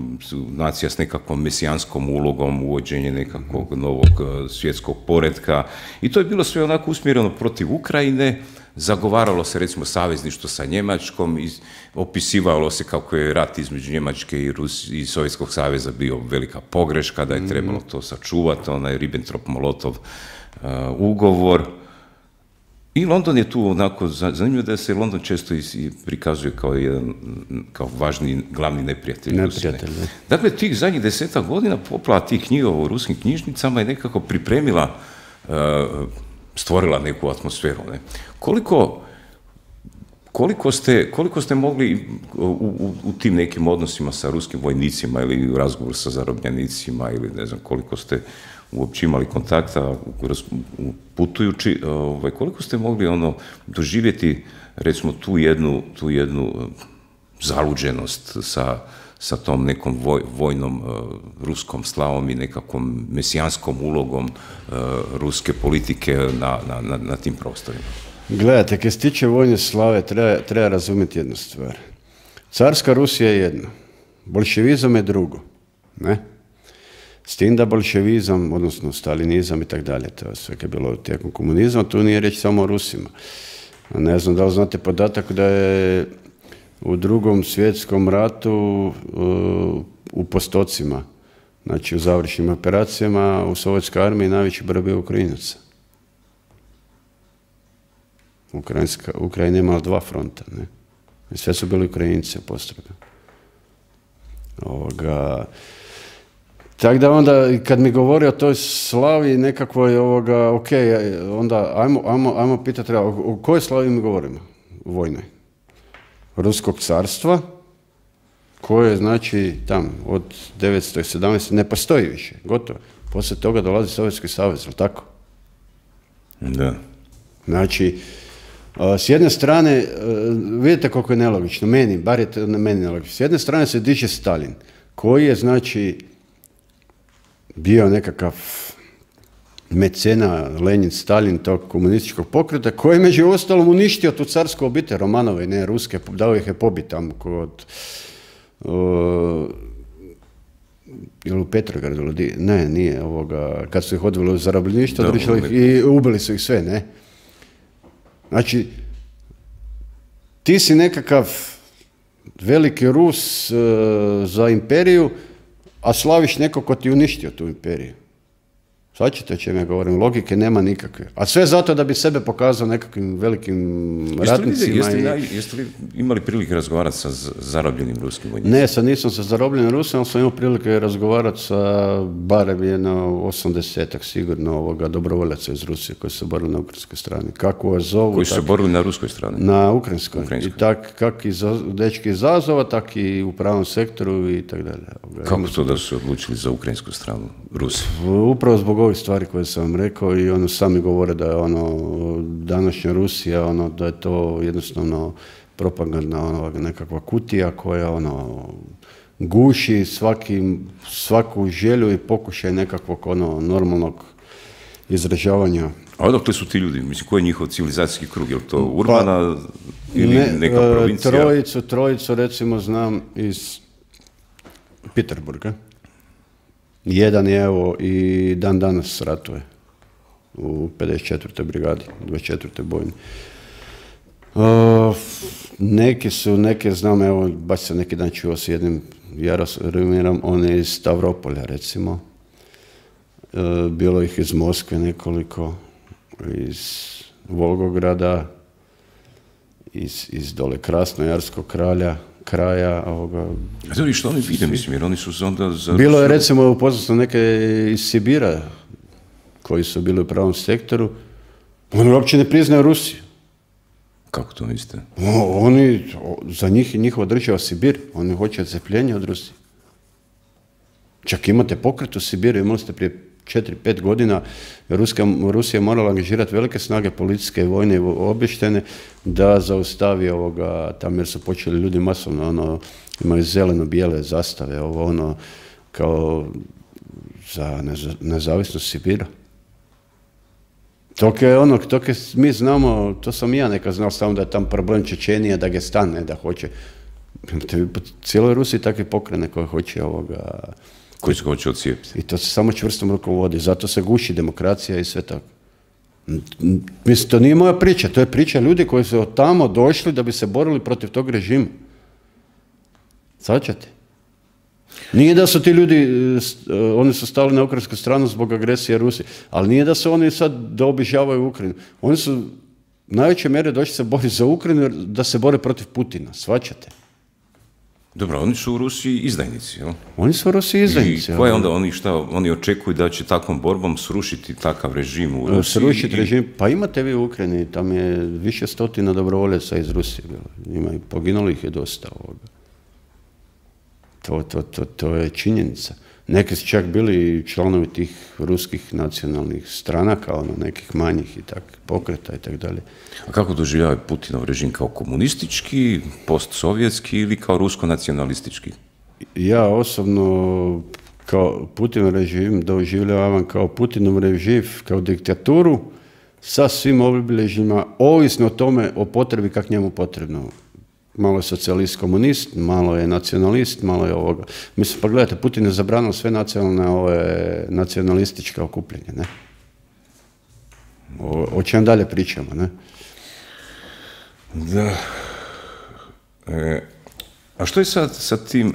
nacija s nekakvom mesijanskom ulogom, uvođenje nekakvog mm-hmm. novog uh, svjetskog poretka. I to je bilo sve onako usmjereno protiv Ukrajine, zagovaralo se recimo savezništvo sa Njemačkom i opisivalo se kako je rat između Njemačke i, Rus, i Sovjetskog saveza bio velika pogreška, da je trebalo to sačuvati, onaj Ribbentrop-Molotov uh, ugovor. I London je tu onako, zanimljivo da se London često i prikazuje kao jedan, kao važni, glavni neprijatelj.
Neprijatelj, ne.
Dakle, tih zadnjih desetak godina poplava tih knjiga u ruskim knjižnicama je nekako pripremila, uh, stvorila neku atmosferu. Ne? Koliko, koliko, ste, koliko ste mogli u, u, u tim nekim odnosima sa ruskim vojnicima ili u razgovoru sa zarobljenicima ili ne znam koliko ste uopće imali kontakta putujući, ovaj, koliko ste mogli ono doživjeti recimo tu jednu, tu jednu zaluđenost sa, sa tom nekom voj, vojnom uh, ruskom slavom i nekakvom mesijanskom ulogom uh, ruske politike na, na, na, na tim prostorima?
Gledajte, kad se tiče vojne slave, treba, treba razumjeti jednu stvar. Carska Rusija je jedno, bolševizam je drugo, ne? S tim da bolševizam, odnosno stalinizam i tako dalje, to je sve kad je bilo tijekom komunizma, tu nije reći samo o Rusima. Ne znam da li znate podatak da je u drugom svjetskom ratu uh, u postocima, znači u završnim operacijama u sovjetskoj armiji najveći broj bio Ukrajinaca. Ukrajinska, Ukrajina imala dva fronta, ne? I sve su bili Ukrajinci u postrojbi. Ovoga... Tako da onda, kad mi govori o toj slavi nekakvoj, ovoga, ok, onda ajmo, ajmo, ajmo pitati, o, o kojoj slavi mi govorimo? Vojnoj. Ruskog carstva, koje je, znači, tam, od devetsto sedamnaeste. ne postoji više, gotovo. Poslije toga dolazi Sovjetski savez, ali tako?
Da.
Znači, s jedne strane, vidite koliko je nelogično, meni, bar je to meni nelogično, s jedne strane se diže Stalin, koji je, znači, bio nekakav mecena, Lenin, Stalin, tog komunističkog pokreta, koji je među ostalom uništio tu carsku obitelj, Romanove, ne ruske, dao ih je pobiti tamo kod, uh, ili u Petrogradu, ne, nije, ovoga, kad su ih odveli u zarobljeništvo, i ubili su ih sve, ne. Znači, ti si nekakav veliki Rus uh, za imperiju, a slaviš neko ko ti uništio tu imperiju. Svačite o čem ja govorim, logike nema nikakve. A sve zato da bi sebe pokazao nekakvim velikim ratnicima.
Jeste li, jeste li,
i...
jeste li imali prilike razgovarati sa zarobljenim ruskim vojnicima?
Ne, sad nisam sa zarobljenim Rusima, ali sam imao prilike razgovarati sa barem jedno osamdesetak sigurno ovoga dobrovoljaca iz Rusije koji su borili na ukrajinskoj strani. Kako vas zovu?
Koji su tak, borili na ruskoj strani?
Na ukrajinskoj. ukrajinskoj. I tak, kak i za, dečki iz Azova, tak i u pravom sektoru i tako dalje.
Kako to da su odlučili za ukrajinsku stranu Rusi?
Upravo zbog ovih stvari koje sam vam rekao i ono sami govore da je ono današnja Rusija, ono da je to jednostavno propagandna ono, nekakva kutija koja ono guši svaki, svaku želju i pokušaj nekakvog ono normalnog izražavanja.
A odakle su ti ljudi? Mislim, koji je njihov civilizacijski krug? Je li to urbana pa, ili ne, neka provincija?
Trojicu, trojicu recimo znam iz Peterburga. Jedan je evo i dan danas ratuje u pedeset četvrtoj brigadi, dvadeset četvrtoj bojni. Uh, neki su, neke znam, evo, baš sam neki dan čuo s jednim Jaromirom, on je iz Stavropolja recimo. Uh, bilo ih iz Moskve nekoliko, iz Volgograda, iz, iz dole Krasnojarskog kralja. kraja ovoga...
Znači, što oni vide, mislim, jer oni su onda... Za...
Bilo je, recimo, upoznao neke iz Sibira, koji su bili u pravom sektoru, oni uopće ne priznaju Rusiju.
Kako to mislite?
O, oni, za njih i njihova država Sibir, oni hoće odcepljenje od Rusije. Čak imate pokret u Sibiru, imali ste prije četiri pet godina Ruska, Rusija morala angažirati velike snage policijske i vojne i obještene da zaustavi ovoga tamo, jer su počeli ljudi masovno, ono, imaju zeleno-bijele zastave, ovo ono, kao za nezavisnost Sibira. Tok je ono, tok je, mi znamo, to sam i ja nekad znao samo da je tam problem Čečenija, Dagestan, ne, da hoće. Po cijeloj Rusiji takve pokrene koje hoće ovoga...
Koji se hoće odcijepiti.
I to se samo čvrstom rukom vodi, zato se guši demokracija i sve tako. Mislim, to nije moja priča, to je priča ljudi koji su od tamo došli da bi se borili protiv tog režima. Svačate? Nije da su ti ljudi, oni su stali na ukrajinsku stranu zbog agresije Rusije, ali nije da su oni sad da obižavaju Ukrajinu. Oni su u najvećoj mjeri došli se boriti za Ukrajinu da se bore protiv Putina, shvaćate?
Dobro, oni su u Rusiji izdajnici, jel?
Oni su u Rusiji izdajnici.
I koje onda oni šta, oni očekuju da će takvom borbom srušiti takav režim u Rusiji?
Srušiti režim, pa imate vi u Ukrajini, tam je više stotina dobrovoljaca iz Rusije bilo. Ima i poginulih je dosta ovoga. To, to, to, to je činjenica. Neki su čak bili članovi tih ruskih nacionalnih stranaka, ono, nekih manjih i tak, pokreta i tako dalje.
A kako doživljava Putinov režim, kao komunistički, postsovjetski ili kao rusko-nacionalistički?
Ja osobno kao Putinov režim doživljavam kao Putinov režim, kao diktaturu sa svim obilježjima, ovisno o tome, o potrebi kak njemu potrebno. Malo je socijalist komunist, malo je nacionalist, malo je ovoga. Mislim, pa gledajte, Putin je zabranio sve nacionalne, ove, nacionalističke okupljenje, ne? O, o čem dalje pričamo, ne?
Da. E, a što je sad sa tim e,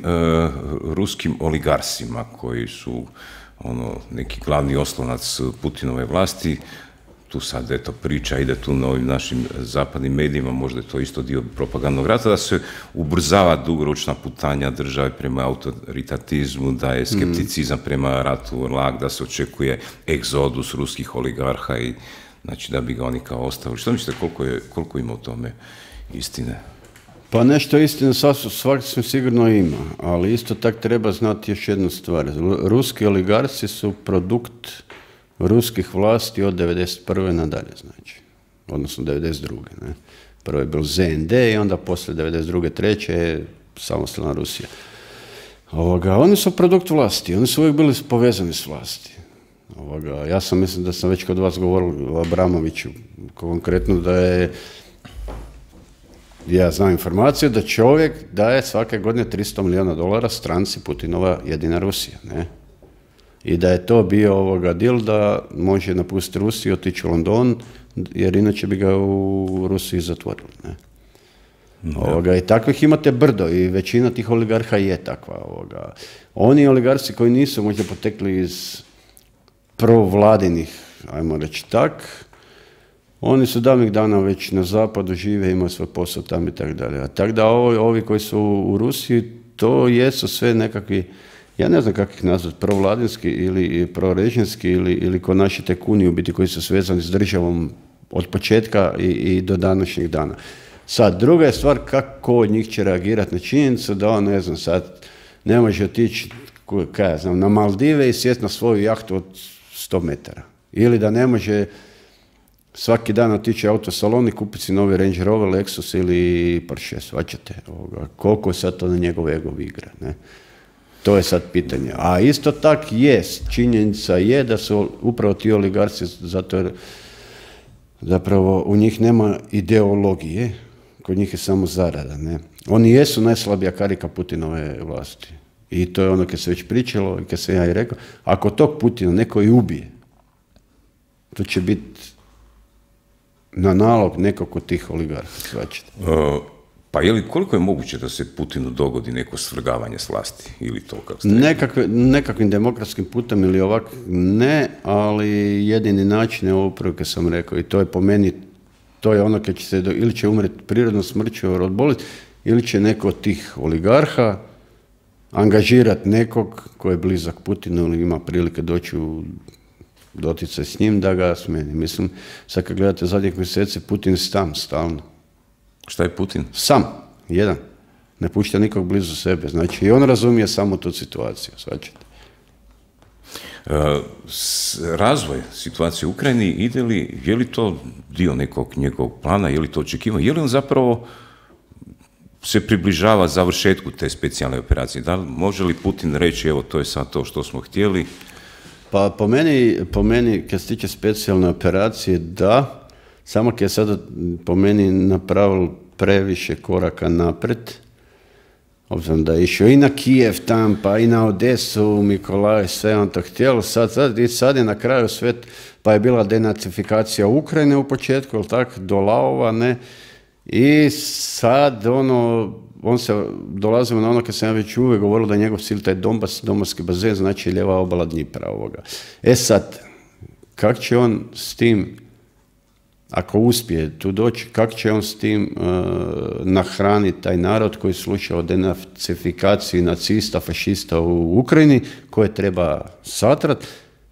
ruskim oligarsima koji su ono, neki glavni oslonac Putinove vlasti? Tu sad, eto, priča ide tu na ovim našim zapadnim medijima, možda je to isto dio propagandnog rata, da se ubrzava dugoročna putanja države prema autoritatizmu, da je skepticizam prema ratu lag, da se očekuje egzodus ruskih oligarha i znači da bi ga oni kao ostavili. Što mislite, koliko, je, koliko ima u tome istine?
Pa nešto istine svakako sigurno ima, ali isto tako treba znati još jednu stvar. Ruski oligarsi su produkt ruskih vlasti od devedeset prve nadalje, znači, odnosno devedeset druge Ne? Prvo je bil Z N D i onda poslije devedeset druge treće je samostalna Rusija. Ovoga, oni su produkt vlasti, oni su uvijek bili povezani s vlasti. Ovoga, ja sam mislim da sam već kod vas govoril o Abramoviću, konkretno da je, ja znam informaciju da čovjek daje svake godine tristo milijuna dolara stranci Putinova Jedina Rusija, ne? I da je to bio ovoga deal da može napustiti Rusiju, otići u London, jer inače bi ga u Rusiji zatvorili. Ne? Ovoga, i takvih imate brdo i većina tih oligarha je takva. Ovoga. Oni oligarci koji nisu možda potekli iz provladinih, ajmo reći tak, oni su davnih dana već na zapadu žive, imaju svoj posao tamo i tako dalje. A tako da ovi, ovi koji su u Rusiji, to jesu sve nekakvi, ja ne znam kako ih nazvati, provladinski ili prorežimski ili, ili ko naši tekuni u biti koji su svezani s državom od početka i, i do današnjeg dana. Sad, druga je stvar kako od njih će reagirati na činjenicu da on, ne znam, sad ne može otići, kaj ja znam, na Maldive i sjeti na svoju jahtu od sto metara. Ili da ne može svaki dan otići u autosalon i kupiti si novi Range Rover, Lexus ili Porsche, svačate. Koliko sad to na njegov ego igra, ne? To je sad pitanje. A isto tak jest, činjenica je da su upravo ti oligarci, zato jer zapravo u njih nema ideologije, kod njih je samo zarada. Ne? Oni jesu najslabija karika Putinove vlasti. I to je ono kad se već pričalo i kad se ja i rekao, ako tog Putina neko i ubije, to će biti na nalog nekog od tih oligarha.
Uh, pa je li, koliko je moguće da se Putinu dogodi neko svrgavanje s vlasti? Ili to kako ste
Nekakve, nekakvim demokratskim putem ili ovak ne, ali jedini način je ovo upravo kad sam rekao i to je po meni, to je ono kad će se, do, ili će umreti prirodnom smrću od bolesti, ili će neko od tih oligarha angažirati nekog koji je blizak Putinu ili ima prilike doći u doticaj s njim da ga smeni. Mislim, sad kad gledate zadnjih mjeseci, Putin je sam stalno.
Šta je Putin?
Sam, jedan. Ne pušta nikog blizu sebe. Znači, i on razumije samo tu situaciju, svačate.
Razvoj situacije u Ukrajini ide li, je li to dio nekog njegovog plana, je li to očekivano, je li on zapravo se približava završetku te specijalne operacije? Da li može li Putin reći, evo, to je sad to što smo htjeli?
Pa po meni, po meni kad se tiče specijalne operacije, da, samo kad je sada po meni napravil previše koraka napred, obzirom da je išao i na Kijev tam, pa i na Odesu, Mikolaj, sve on to htjelo, sad, sad, i sad je na kraju sve, pa je bila denacifikacija Ukrajine u početku, jel tak, do Laova, ne, i sad ono, on se, dolazimo na ono kad sam ja već uvijek govorilo da je njegov cilj taj Donbas, Donbaski bazen, znači lijeva obala Dnjipra ovoga. E sad, kak će on s tim, ako uspije tu doći, kako će on s tim uh, nahraniti taj narod koji sluša o denacifikaciji nacista, fašista u Ukrajini, koje treba satrat,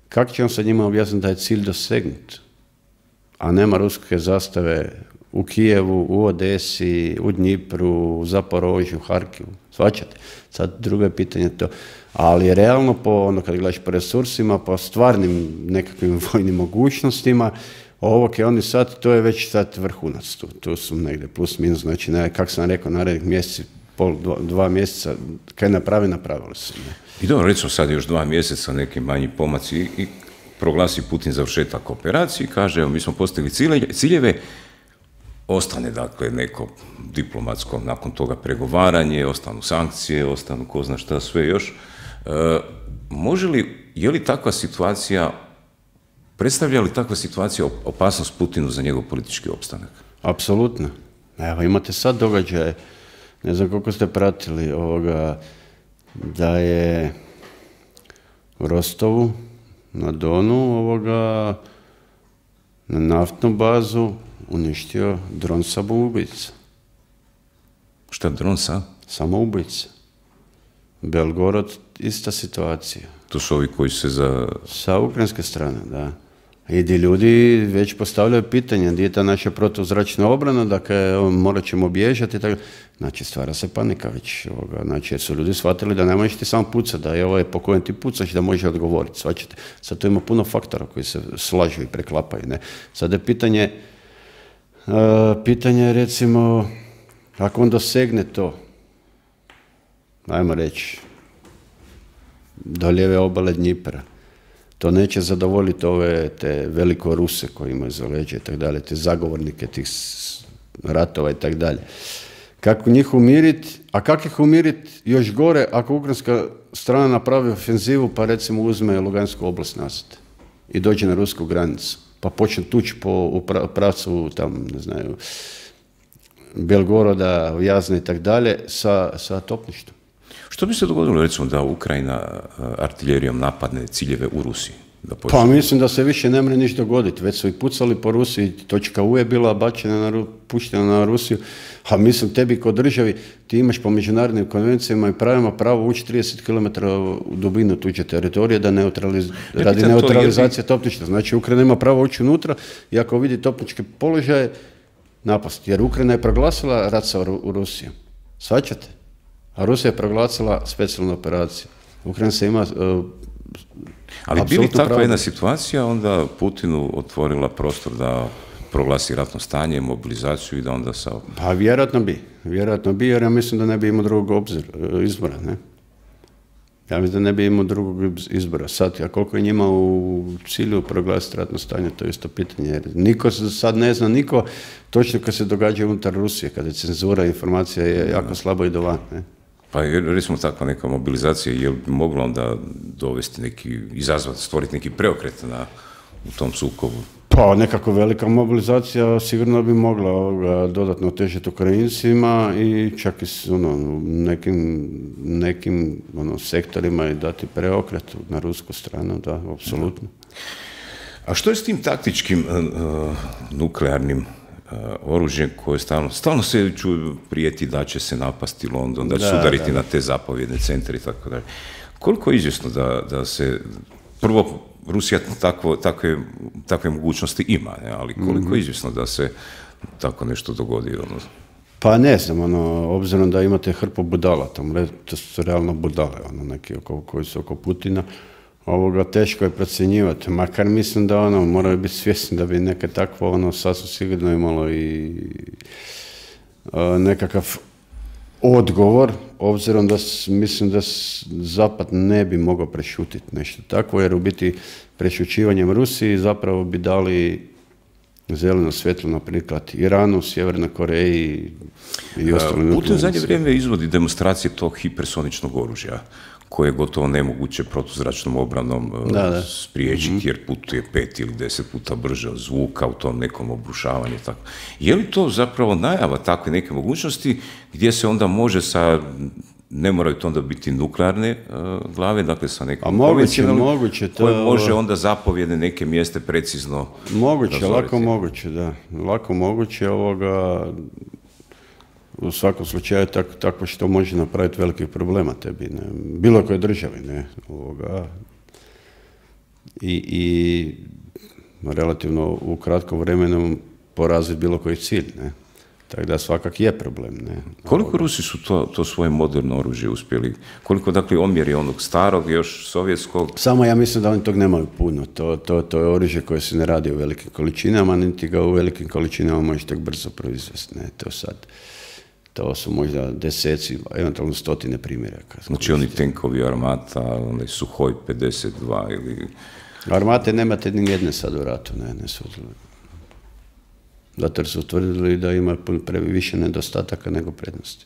kako će on sa njima objasniti da je cilj dosegnut? A nema ruske zastave u Kijevu, u Odesi, u Dnjipru, u Zaporožju, u Harkivu, svačate. Sad drugo je pitanje to. Ali realno, po, ono, kad gledaš po resursima, po stvarnim nekakvim vojnim mogućnostima, ovog je oni sad, to je već sad vrhunac tu. Tu su negdje plus minus, znači, ne, kako sam rekao, narednih mjeseci, pol, dva, dva mjeseca, kaj napravi, napravili su. Ne.
I dobro, recimo sad još dva mjeseca, neki manji pomaci i, i proglasi Putin završetak operacije i kaže, evo, mi smo postigli ciljeve, ostane, dakle, neko diplomatsko, nakon toga pregovaranje, ostanu sankcije, ostanu ko zna šta sve još. E, može li, je li takva situacija, predstavlja li takva situacija opasnost Putinu za njegov politički opstanak?
Apsolutno. Evo, imate sad događaje, ne znam koliko ste pratili ovoga, da je u Rostovu, na Donu, ovoga, na naftnu bazu, uništio dron samoubica.
Šta dron sa?
Samoubica. Belgorod, ista situacija.
To su ovi koji se za...
Sa ukrajinske strane, da. I di ljudi već postavljaju pitanje, gdje je ta naša protuzračna obrana, dakle, morat ćemo bježati, tako. Znači, stvara se panika već, ovoga. Znači, jer su ljudi shvatili da ne možeš ti samo pucati, da je ovo po kojem ti pucaš, da može odgovoriti, shvaćate. Sad tu ima puno faktora koji se slažu i preklapaju, ne. Sad je pitanje, uh, pitanje recimo, ako on dosegne to, ajmo reći, do lijeve obale Dnjipra, to neće zadovoljiti ove te veliko Ruse koji imaju za leđe i tako dalje, te zagovornike tih ratova i tako dalje. Kako njih umiriti, a kako ih umiriti još gore ako ukrajinska strana napravi ofenzivu pa recimo uzme Lugansku oblast nazad i dođe na rusku granicu, pa počne tući po u pravcu tam, ne znaju, Belgoroda, Jazne i tako dalje sa, sa topništvom.
Što bi se dogodilo, recimo, da Ukrajina artiljerijom napadne ciljeve u Rusiji? Da
pa mislim da se više ne mre ništa dogoditi. Već su i pucali po Rusiji, točka U je bila bačena, na, puštena na Rusiju. A mislim, tebi kod državi, ti imaš po međunarodnim konvencijama i pravima pravo ući trideset kilometara u dubinu tuđe teritorije da neutraliz... radi neutralizacije to, topništva. Znači, Ukrajina ima pravo ući unutra i ako vidi topničke položaje, napasti. Jer Ukrajina je proglasila rat sa u Rusijom. Svaćate? A Rusija je proglasila specijalnu operaciju. Ukrajina se ima... Uh,
Ali bi li takva jedna situacija onda Putinu otvorila prostor da proglasi ratno stanje, mobilizaciju i da onda sa...
Pa vjerojatno bi. Vjerojatno bi, jer ja mislim da ne bi imao drugog obzira, izbora, ne? Ja mislim da ne bi imao drugog izbora. Sad, a koliko je njima u cilju proglasiti ratno stanje, to je isto pitanje. Jer niko sad ne zna, niko točno kad se događa unutar Rusije, kada je cenzura informacija je jako slabo i dovan, ne?
Pa recimo takva neka mobilizacija, je li bi mogla onda dovesti neki, izazvati, stvoriti neki preokret na, u tom sukobu?
Pa nekako velika mobilizacija sigurno bi mogla ovoga, dodatno otežati Ukrajincima i čak i s ono, nekim, nekim ono, sektorima i dati preokret na rusku stranu, da, apsolutno.
A što je s tim taktičkim uh, nuklearnim Uh, oružje koje stalno, stalno se čuju prijeti da će se napasti London, da će se udariti da. na te zapovjedne centre i tako dalje. Koliko je izvjesno da, da se, prvo, Rusija takvo, takve, takve mogućnosti ima, ne? Ali koliko mm-hmm. je izvjesno da se tako nešto dogodi? Ono?
Pa ne znam, ono, obzirom da imate hrpu budala, tamo, to su realno budale, ono, neki oko, koji su oko Putina, Ovoga teško je procjenjivati, makar mislim da ono, moraju biti svjesni da bi neke takvo ono sasvim sigurno imalo i a, nekakav odgovor, obzirom da s, mislim da s, Zapad ne bi mogao prešutiti nešto takvo, jer u biti prešućivanjem Rusiji zapravo bi dali zeleno svjetlo, na priklat Iranu, Sjevernoj Koreji i ostalim.
Putin u zadnje vrijeme izvodi demonstracije tog hipersoničnog oružja, koje je gotovo nemoguće protuzračnom obranom da, da. spriječiti, mm-hmm. jer putuje pet ili deset puta brže od zvuka u tom nekom obrušavanju. Tako. Je li to zapravo najava takve neke mogućnosti gdje se onda može sa, ne moraju to onda biti nuklearne uh, glave, dakle sa nekom konvencionalnom, koje može onda zapovjedne neke mjeste precizno
moguće,
razoriti.
lako moguće, da. Lako moguće ovoga. U svakom slučaju tako, tako što može napraviti velikih problema tebi, ne? Bilo koje državi, ne? Ovoga. I, i relativno u kratkom vremenu poraziti bilo koji cilj, ne? Tako da svakak je problem, ne?
Koliko ovoga. Rusi su to, to svoje moderno oružje uspjeli? Koliko, dakle, omjeri onog starog, još sovjetskog?
Samo ja mislim da oni tog nemaju puno. To, to, to je oružje koje se ne radi u velikim količinama, niti ga u velikim količinama možeš tako brzo proizvesti, ne? To sad... To su možda deseci, eventualno stotine primjeraka.
Znači oni tenkovi Armata, onaj Suhoj pedeset dva ili...
Armate nemate ni jedne sad u ratu, ne, ne su... Zato jer su utvrdili da ima više nedostataka nego prednosti.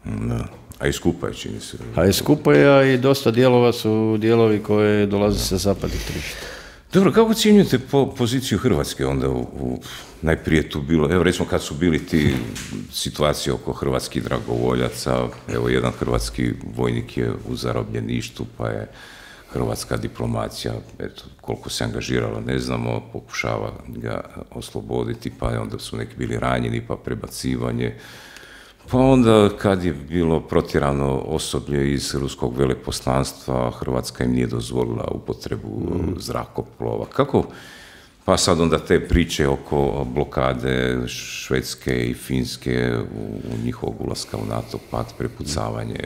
Ne.
Da. A i skupa je, čini se.
A i skupa je, a i dosta dijelova su dijelovi koje dolaze sa zapadnih tržišta.
Dobro, kako ocjenjujete po poziciju Hrvatske onda u, u najprije tu bilo, evo recimo kad su bili ti situacije oko hrvatskih dragovoljaca, evo jedan hrvatski vojnik je u zarobljeništvu, pa je hrvatska diplomacija, eto, koliko se angažirala, ne znamo, pokušava ga osloboditi, pa onda su neki bili ranjeni, pa prebacivanje. Pa onda kad je bilo protjerano osoblje iz ruskog veleposlanstva, Hrvatska im nije dozvolila upotrebu mm. zrakoplova. Kako? Pa sad onda te priče oko blokade Švedske i Finske u, u njihovog ulaska u NATO pakt, prepucavanje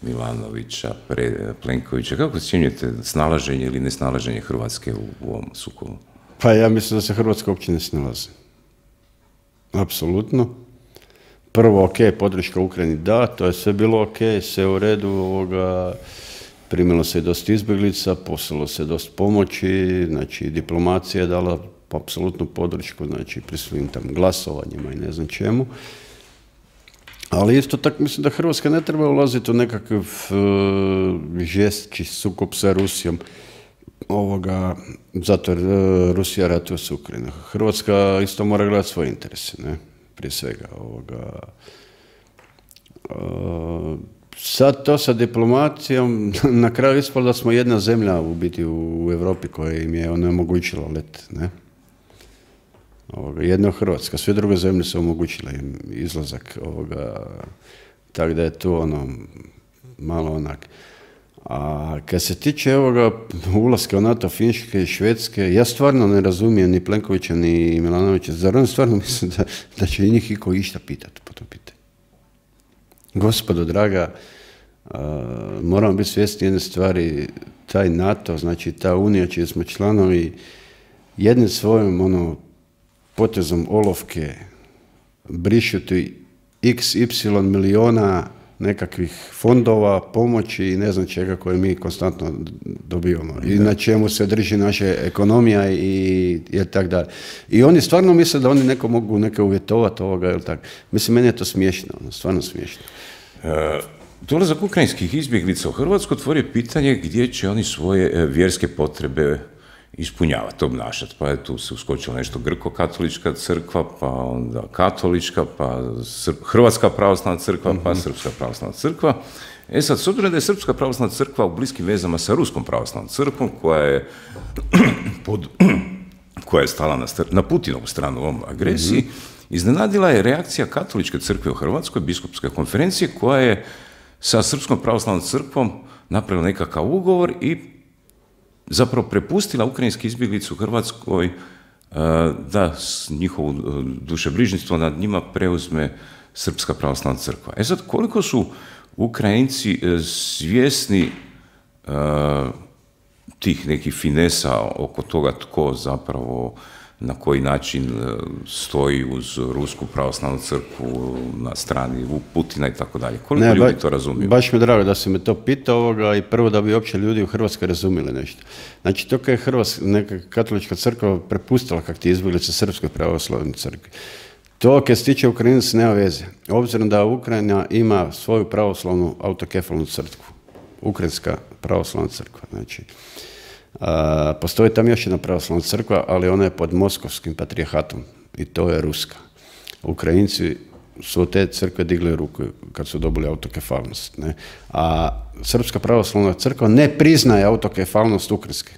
Milanovića, pre, Plenkovića. Kako ocjenjujete snalaženje ili nesnalaženje Hrvatske u, u ovom sukobu?
Pa ja mislim da se Hrvatska uopće ne snalazi. Apsolutno. Prvo, ok, podrška Ukrajini, da, to je sve bilo ok, sve u redu, ovoga, primilo se dosta izbjeglica, poslalo se dosta pomoći, znači diplomacija je dala apsolutnu podršku, znači pri svim tam glasovanjima i ne znam čemu. Ali isto tako mislim da Hrvatska ne treba ulaziti u nekakav uh, žestči sukob sa Rusijom, ovoga, zato jer uh, Rusija ratuje s Ukrajinom. Hrvatska isto mora gledati svoje interese, ne? Prije svega ovoga. Uh, sad to sa diplomacijom, na kraju ispalo da smo jedna zemlja u biti u, u Europi koja im je onemogućila let, ne? Ovoga, jedna Hrvatska, sve druge zemlje su omogućile im izlazak ovoga, tako da je tu ono malo onak. A kad se tiče ovoga ulaska u NATO, Finjske i Švedske, ja stvarno ne razumijem ni Plenkovića ni Milanovića. Zar on stvarno mislim da, da će njih iko išta pitati po to pitanje? Gospodo draga, uh, moramo biti svjesni jedne stvari, taj NATO, znači ta unija čiji smo članovi, jednim svojim ono, potezom olovke brišuti iks ipsilon miliona nekakvih fondova, pomoći i ne znam čega koje mi konstantno dobivamo. I na čemu se drži naša ekonomija i, i tako dalje. I oni stvarno misle da oni neko mogu neke uvjetovati ovoga ili tako. Mislim, meni je to smiješno, ono, stvarno smiješno.
E, dolazak ukrajinskih izbjeglica u Hrvatsku otvori pitanje gdje će oni svoje e, vjerske potrebe ispunjavati, obnašati. Pa je tu se uskočila nešto grko-katolička crkva, pa onda katolička, pa Srp, Hrvatska pravoslavna crkva, pa Srpska pravoslavna crkva. E sad, s obzirom da je Srpska pravoslavna crkva u bliskim vezama sa Ruskom pravoslavnom crkvom, koja je, pod, koja je stala na, na Putinovu stranu u ovom agresiji, mm-hmm. iznenadila je reakcija katoličke crkve u Hrvatskoj, biskupske konferencije, koja je sa Srpskom pravoslavnom crkvom napravila nekakav ugovor i zapravo prepustila ukrajinske izbjeglice u Hrvatskoj da njihovo dušebrižništvo nad njima preuzme Srpska pravoslavna crkva. E sad, koliko su Ukrajinci svjesni tih nekih finesa oko toga tko zapravo na koji način stoji uz Rusku pravoslavnu crkvu na strani Putina i tako dalje. Koliko ne, ljudi ba, to razumiju?
Baš mi je drago da se me to pita ovoga i prvo da bi uopće ljudi u Hrvatskoj razumjeli nešto. Znači, to je Hrvatska, neka katolička crkva prepustila kak ti izbjeglice Srpskoj pravoslavnoj crkvi. To, kad se tiče Ukrajinaca, nema veze. Obzirom da Ukrajina ima svoju pravoslavnu autokefalnu crkvu. Ukrajinska pravoslavna crkva. Znači, a, postoji tam još jedna pravoslavna crkva, ali ona je pod moskovskim patrijarhatom i to je ruska. Ukrajinci su od te crkve digli ruku kad su dobili autokefalnost. Ne? A Srpska pravoslavna crkva ne priznaje autokefalnost Ukrajinske.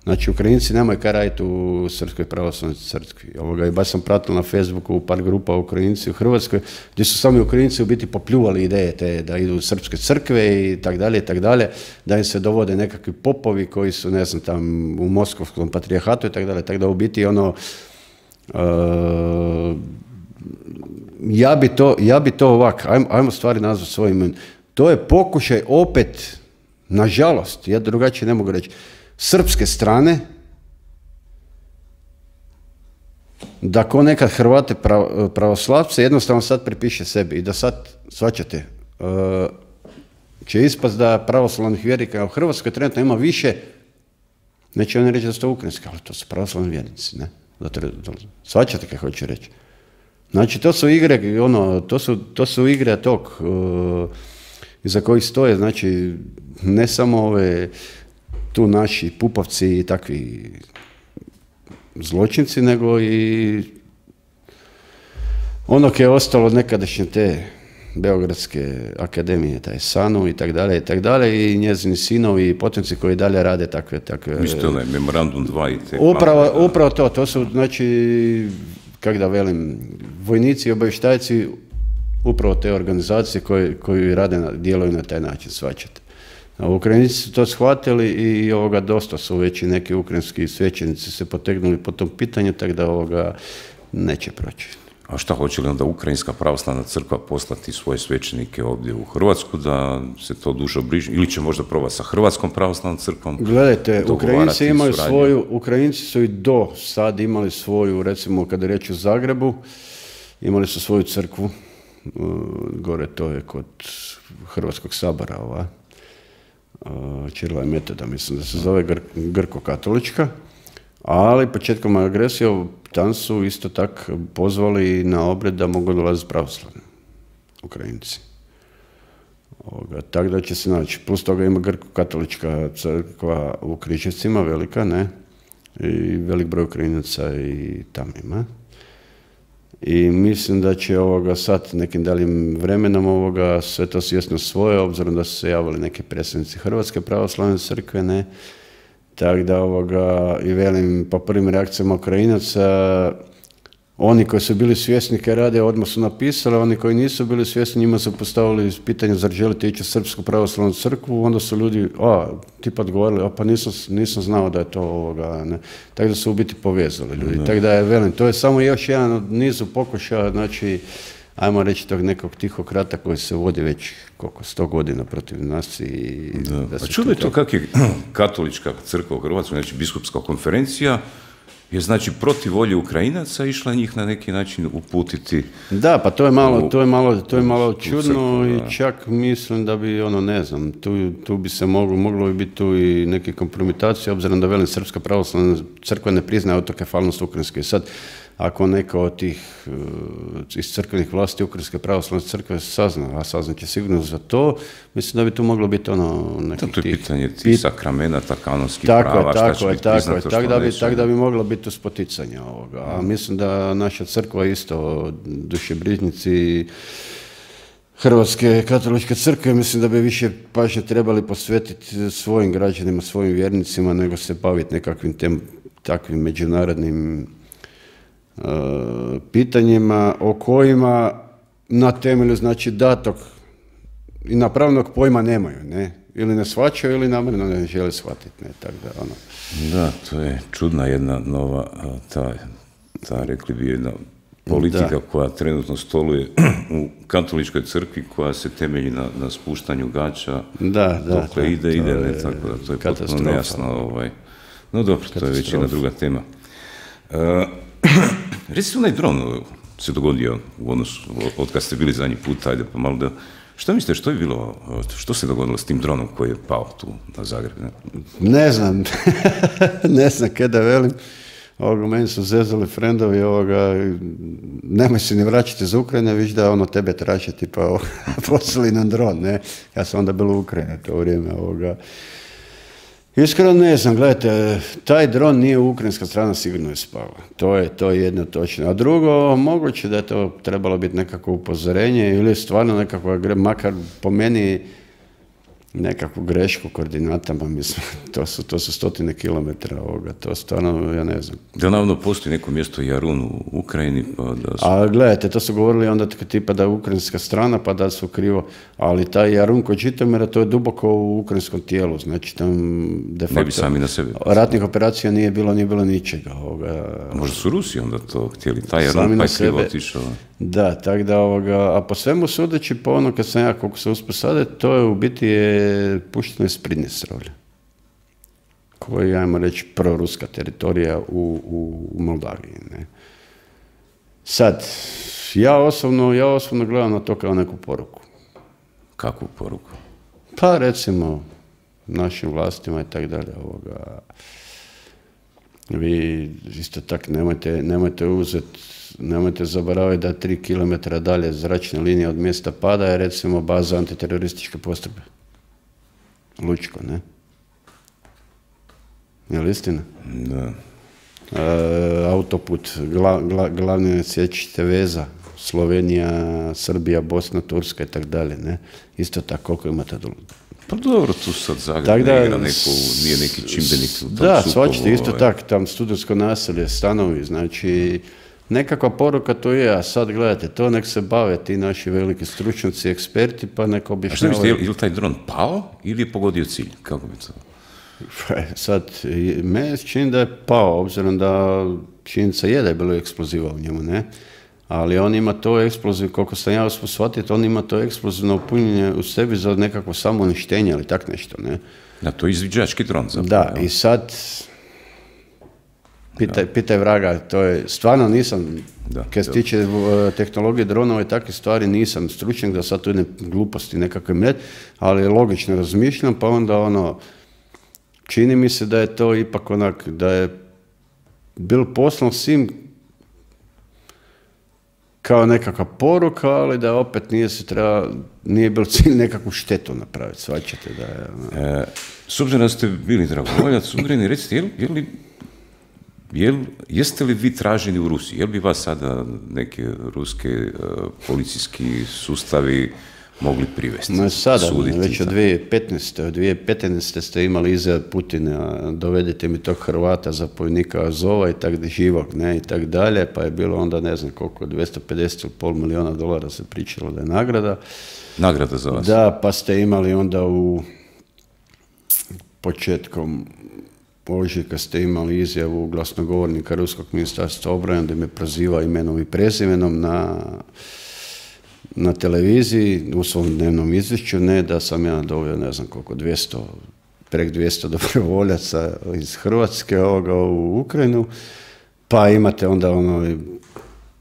Znači, Ukrajinci nemaju kaj raditi u Srpskoj pravoslavnoj crkvi. Ovoga, i baš sam pratila na Facebooku par grupa Ukrajinci u Hrvatskoj, gdje su sami Ukrajinci u biti popljuvali ideje te da idu u srpske crkve i tak dalje i tak dalje, da im se dovode nekakvi popovi koji su, ne znam, tam u moskovskom patrijarhatu i tak dalje. Tako da u biti ono, uh, ja bi to, ja bi to ovak, ajmo, ajmo stvari nazvati svojim imenom. To je pokušaj opet, nažalost, ja drugačije ne mogu reći, srpske strane, da ko nekad Hrvate pravoslavce jednostavno sad pripiše sebi i da sad, shvaćate, će ispast da pravoslavnih vjernika u Hrvatskoj trenutno ima više, neće oni reći da su to ukrajinski, ali to su pravoslavni vjernici, ne? Shvaćate kaj hoću reći. Znači, to su igre, ono, to su, to su igre tog, iza kojih stoje, znači, ne samo ove tu naši pupovci i takvi zločinci, nego i ono koje je ostalo od nekadašnje te Beogradske akademije, taj Sanu i tak dalje i tak dalje, i njezini sinovi i potomci koji dalje rade takve... takve
Mislite onaj Memorandum dva i te...
Upravo, upravo to, to su, znači, kako da velim, vojnici i obavještajci upravo te organizacije koje, koji rade, na, djeluju na taj način, shvaćate. Ukrajinci su to shvatili i ovoga, dosta su već i neki ukrajinski svećenici se potegnuli po tom pitanju, tako da ovoga neće proći.
A šta hoće li onda Ukrajinska pravoslavna crkva poslati svoje svećenike ovdje u Hrvatsku da se to duže obriže? Ili će možda probati sa Hrvatskom pravoslavnom crkvom?
Gledajte, Ukrajinci imaju suradnju. svoju, Ukrajinci su i do sad imali svoju, recimo kada je riječ o Zagrebu, imali su svoju crkvu, gore to je kod Hrvatskog sabora, ova. Čirila i Metoda, mislim da se zove gr grko-katolička, ali početkom agresije tam su isto tak pozvali na obred da mogu dolaziti pravoslavni Ukrajinci. Tako da će se naći. Plus toga ima grko-katolička crkva u Križevcima, velika, ne? I velik broj Ukrajinaca i tam ima. I mislim da će ovoga sad nekim daljim vremenom ovoga sve to svjesno svoje, obzirom da su se javili neki predstavnici Hrvatske pravoslavne crkve, ne. Tako da ovoga, i velim, po prvim reakcijama Ukrajinaca, oni koji su bili svjesni kaj rade, odmah su napisali, oni koji nisu bili svjesni, njima su postavili pitanje zar želite ići u Srpsku pravoslavnu crkvu, onda su ljudi, a, tipa odgovorili, a pa nisam, nisam znao da je to ovoga, ne. Tako da su u biti povezali ljudi. Tako da je, velim, to je samo još jedan od nizu pokušaja, znači, ajmo reći tog nekog tihog rata koji se vodi već koliko, sto godina protiv nas i...
Da. Da a čudo je to kak je katolička crkva u Hrvatskoj, znači biskupska konferencija, je znači protiv volje Ukrajinaca išla njih na neki način uputiti.
Da, pa to je malo, u, to je malo, to je malo čudno crkvu, i čak mislim da bi, ono, ne znam, tu, tu bi se moglo, moglo bi biti tu i neke kompromitacije, obzirom da velim Srpska pravoslavna crkva ne priznaje autokefalnost Ukrajinske. I sad, ako neka od tih uh, iz crkvenih vlasti Ukrajinske pravoslavne crkve sazna, a sazna će sigurno za to, mislim da bi tu moglo biti ono nekih
to je
tih...
pitanje tih sakramenata, kanonskih prava, šta će biti priznato, što
da bi,
neće.
tako da bi moglo biti spoticanje ovoga. A mislim da naša crkva isto, dušebrižnici Hrvatske katoličke crkve, mislim da bi više pažnje trebali posvetiti svojim građanima, svojim vjernicima, nego se baviti nekakvim tem, takvim međunarodnim uh, pitanjima o kojima na temelju, znači, datog i napravnog pojma nemaju, ne? Ili ne shvaćaju ili namjerno ne žele shvatiti, ne? Tako da, ono.
Da, to je čudna jedna nova, ta, ta rekli bi jedna politika
Da.
koja trenutno stoluje u katoličkoj crkvi, koja se temelji na, na spuštanju gača,
Da, da.
dokle
da,
ide,
to
ide, ne,
je
tako da to je potpuno
katastrofa.
nejasno. Ovaj. No dobro, to je već jedna druga tema. Uh, Recite, onaj dron se dogodio u odnosu, od kad ste bili zadnji put, ajde pa malo da... Što mislite, što je bilo, što se dogodilo s tim dronom koji je pao tu na Zagreb? Ne,
ne znam, ne znam kaj da velim. Ovoga, meni su zezali frendovi, ovoga, nemoj se ni vraćati za Ukrajine, viš da ono tebe traže, tipa, poslali nam dron, ne? Ja sam onda bil u Ukrajini to vrijeme, ovoga. Iskreno ne znam, gledajte, taj dron nije ukrajinska strana, sigurno je spala. To je, to je jedno točno. A drugo, moguće da je to trebalo biti nekako upozorenje ili stvarno nekakva, makar po meni, nekakvu grešku koordinatama, mislim, to su, to su stotine kilometra ovoga, to stvarno, ja ne znam.
Da navodno postoji neko mjesto Jarun u Ukrajini, pa da su...
A gledajte, to su govorili onda tipa da je ukrajinska strana, pa da su krivo, ali taj Jarun kod Žitomira, to je duboko u ukrajinskom tijelu, znači tam de facto...
Ne bi sami na sebe.
Ratnih operacija nije bilo, nije bilo ničega. Ovoga.
Možda su Rusi onda to htjeli, taj Jarun pa je krivo otišao.
Da, tako da, ovoga, a po svemu sudeći, po ono kad sam ja, koliko se uspio sada, to je u biti je pušteno iz Pridnjestrovlja, koji je, ajmo reći, proruska teritorija u, u, u Moldaviji. Ne. Sad, ja osobno, ja osobno gledam na to kao neku poruku.
Kakvu poruku?
Pa recimo našim vlastima i tako dalje. Ovoga, vi isto tako nemojte, nemojte uzeti, nemojte zaboraviti da tri kilometra dalje zračne linije od mjesta pada je recimo baza antiterorističke postrojbe. Lučko, ne? Je li istina?
Da.
E, autoput, gla, gla, glavne sjećite veza, Slovenija, Srbija, Bosna, Turska i tako dalje, ne? Isto tako, koliko imate dole.
Pa dobro, tu sad Zagreb
Tak da,
ne igra neko, nije neki čimbenik u tom
da,
sukobu.
svačite, isto
ovaj.
tako, tam studentsko naselje, stanovi, znači nekakva poruka to je, a sad gledajte, to nek se bave ti naši veliki stručnjaci, eksperti, pa nek
A što
objašnjavaju.
mislite, je li- je li taj dron pao ili je pogodio cilj? Kako bi to?
Sad, i- meni se čini da je pao, obzirom da činjenica je da je bilo eksploziva u njemu, ne? Ali on ima to eksploziv, koliko sam ja uspio shvatiti, on ima to eksplozivno punjenje u sebi za nekakvo samouništenje ili tak nešto, ne?
Da, to je izviđački dron zapravo.
Da,
jel?
i sad, pitaj, pitaj vraga, to je, stvarno nisam,
Da,
kad se
da.
tiče uh, tehnologije dronova i takve stvari, nisam stručnjak da sad tu ne gluposti nekakve met, ali logično razmišljam, pa onda ono, čini mi se da je to ipak onak, da je bil poslan svim kao nekakva poruka, ali da opet nije se treba, nije bil cilj nekakvu štetu napraviti, svačate da je... ono.
E, s obzirom da ste bili dragovoljac, Ugreni, recite, je li, je li, je li- jeste li vi traženi u Rusiji? Je li bi vas sada neke ruske e, policijski sustavi mogli privesti?
Ma sada,
suditi?
već od dvije tisuće petnaeste. Od dvije tisuće petnaeste ste imali izjave Putina, dovedite mi tog Hrvata, zapovjednika Azova i tak živog, ne, i tak dalje, pa je bilo onda, ne znam koliko, dvjesto pedeset ili pol milijuna dolara se pričalo da je nagrada.
Nagrada za vas?
Da, pa ste imali onda u početkom ožujka ste imali izjavu glasnogovornika Ruskog ministarstva obrane da me proziva imenom i prezimenom na na televiziji u svom dnevnom izvješću, ne da sam ja doveo, ne znam koliko, dvjesto, prek dvjesto dobrovoljaca iz Hrvatske ovoga u Ukrajinu, pa imate onda ono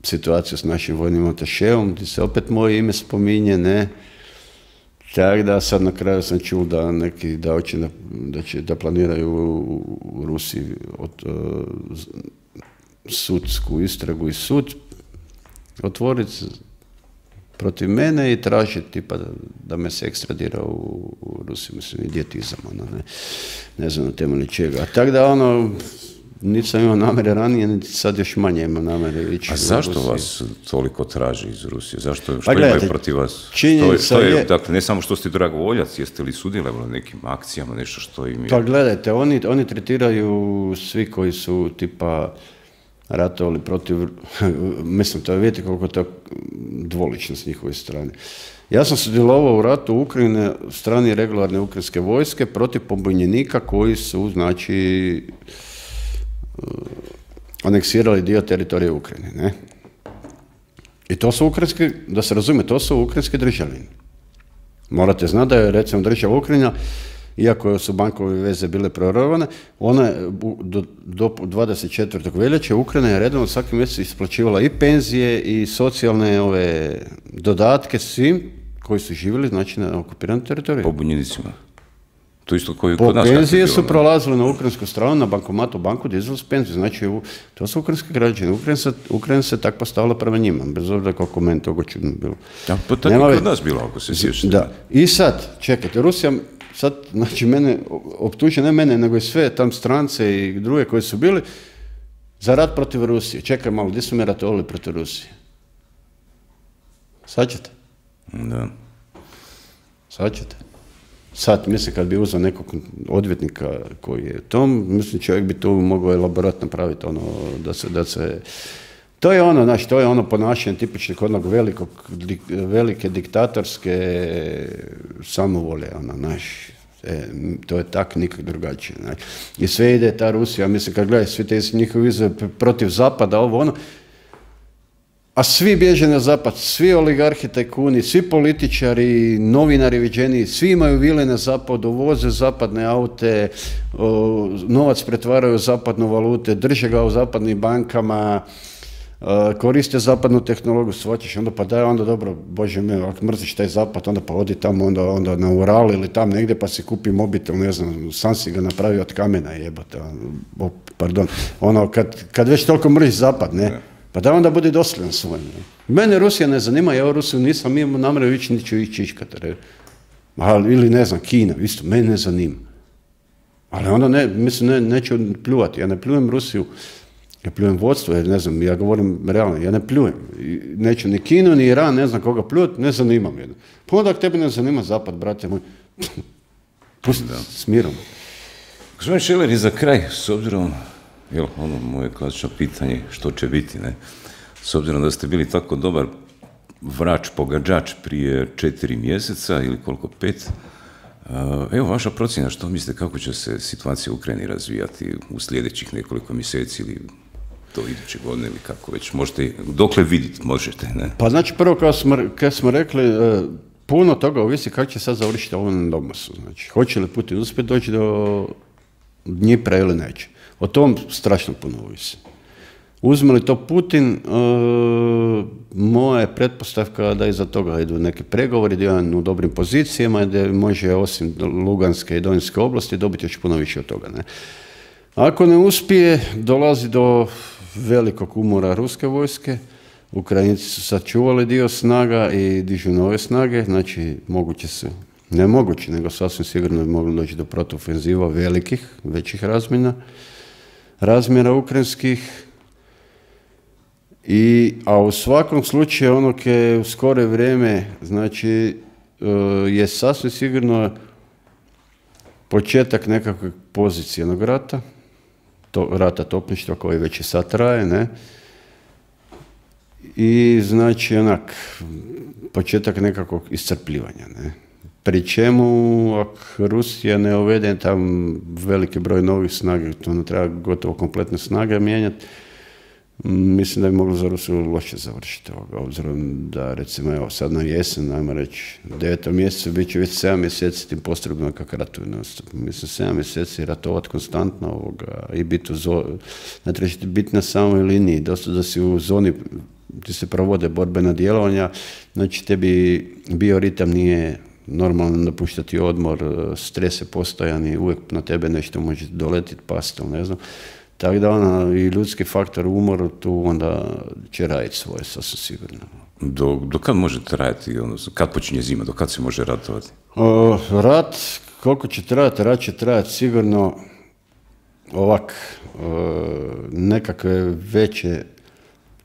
situaciju s našim vojnim atašeom, gdje se opet moje ime spominje, ne, tako da sad na kraju sam čuo da neki da hoće da, da, će, da planiraju u, u Rusiji od, uh, sudsku istragu i sud otvoriti protiv mene i traži tipa da, da me se ekstradira u, u Rusiju, mislim, idiotizam, ono, ne, ne znam na temelju čega. Tako da, ono, niti sam imao namere ranije, niti sad još manje imam namere ići
A
u
zašto
Rusiju.
vas toliko traži iz Rusije? Zašto, što
Pa gledajte,
imaju protiv vas?
činjenica
Što je, što je,
je-
dakle, ne samo što ste dragovoljac, jeste li sudjelovali na nekim akcijama, nešto što im je...
Pa gledajte, oni, oni tretiraju svi koji su tipa ratovali protiv, mislim, to je, vidite koliko je to dvolično s njihove strane. Ja sam sudjelovao u ratu Ukrajine strani regularne ukrajinske vojske protiv pobunjenika koji su, znači, uh, aneksirali dio teritorija Ukrajine, ne? I to su ukrajinski, da se razumije, to su ukrajinski državljani. Morate znati da je, recimo, država Ukrajina, iako su bankove veze bile prorvane, ona je do, do dvadeset četvrtog veljače Ukrajina je redovno svaki mjesec isplaćivala i penzije i socijalne ove dodatke svim koji su živjeli, znači, na okupiranom teritoriju.
Pobunjenicima. To isto koji
po
kod nas.
Penzije su prolazile na ukrajinsku stranu, na bankomatu banku, dizali su penziju. Znači, to su ukrajinski građani. Ukrajina se, Ukrajina se tako postavila prema njima, bez obzira koliko meni toga čudno bilo.
Ja, pa tako Nema... kod nas bilo, ako se sjećate.
Da. I sad, čekajte, Rusija, sad, znači, mene optuže, ne mene, nego i sve tam strance i druge koji su bili, za rat protiv Rusije. Čekaj malo, gdje su mi ratovali protiv Rusije? Sad ćete?
Da.
Sad ćete? Sad, mislim, kad bi uzeo nekog odvjetnika koji je tom, mislim, čovjek bi tu mogao elaborat napraviti, ono, da se, da se, to je ono, znači, to je ono ponašanje tipičnih onog velikog, velike diktatorske samovolje, ono, znaš, e, to je tak, nikak drugačije, znači. I sve ide ta Rusija, mislim, kad gledaj, svi te njihovi izve protiv Zapada, ovo, ono, a svi bježe na zapad, svi oligarhi, tajkuni, svi političari, novinari viđeni, svi imaju vile na zapadu, voze zapadne aute, o, novac pretvaraju u zapadnu valute, drže ga u zapadnim bankama, o, koriste zapadnu tehnologiju, shvaćaš, onda pa daj, onda dobro, Bože me, ako mrziš taj zapad, onda pa odi tamo, onda, onda na Ural ili tam negdje pa si kupi mobitel, ne znam, sam si ga napravi od kamena, jebote, o, pardon, ono, kad, kad već toliko mrziš zapad, ne, pa da onda bude dosljedan svojim. Mene Rusija ne zanima, ja u Rusiju nisam imao namjeru ići, niću ići iškati. Ili ne znam, Kina, isto, mene ne zanima. Ali onda ne, mislim, ne, neću pljuvati. Ja ne pljujem Rusiju, ja pljujem vodstvo, jer ne znam, ja govorim realno, ja ne pljujem. Neću ni Kinu, ni Iran, ne znam koga pljuvati, ne zanimam jedno. Pa onda ako tebi ne zanima zapad, brate moj, pusti da. S mirom.
Gospodin Šeler, i za kraj, s obzirom, jel, ono moje klasično pitanje, što će biti, ne? S obzirom da ste bili tako dobar vrač, pogađač prije četiri mjeseca ili koliko, pet, evo vaša procjena, što mislite, kako će se situacija u Ukrajini razvijati u sljedećih nekoliko mjeseci ili do iduće godine ili kako već, možete, dokle vidjeti možete, ne?
Pa znači, prvo kao smo, kad smo rekli, puno toga ovisi kako će sad završiti ovo na Donbasu. Znači, hoće li Putin uspjeti doći do Dnjipra ili neće. O tom strašno puno ovisi. Uzme li to Putin, e, moja je pretpostavka da iza toga idu neki pregovori, da je on u dobrim pozicijama, da može osim Luganske i Donjske oblasti dobiti još puno više od toga. Ne? Ako ne uspije, dolazi do velikog umora ruske vojske, Ukrajinci su sačuvali dio snaga i dižu nove snage, znači moguće se, ne moguće, nego sasvim sigurno bi mogli doći do protuofenziva velikih, većih razmjena, razmjera ukrajinskih, i, a u svakom slučaju ono ke u skore vrijeme, znači, je sasvim sigurno početak nekakvog pozicionog rata, to, rata topništva koji već i sad traje, ne, i znači onak početak nekakvog iscrpljivanja, ne. Pri čemu, ako Rusija ne uvede tam veliki broj novih snaga, to ne treba gotovo kompletne snage mijenjati, mislim da bi moglo za Rusiju loše završiti ovoga, obzirom da, recimo, evo, sad na jesen, ajmo reći, u devetom mjesecu bit će već sedam mjeseci tim postrojbama kako ratuju. Mislim, sedam mjeseci ratovati konstantno ovoga i biti u zoni, ne trebate biti na samoj liniji, dosta da si u zoni gdje se provode borbena djelovanja, znači tebi bioritam nije normalno napuštati odmor, stres je postojan i uvijek na tebe nešto može doletiti, pasti, ne znam. Tako da ona i ljudski faktor umor tu onda će raditi svoje, sasvim sigurno.
Do, do kad može trajati, odnosno, kad počinje zima, do kad se može ratovati?
O, rat, koliko će trajati, rat će trajati sigurno ovak, o, nekakve veće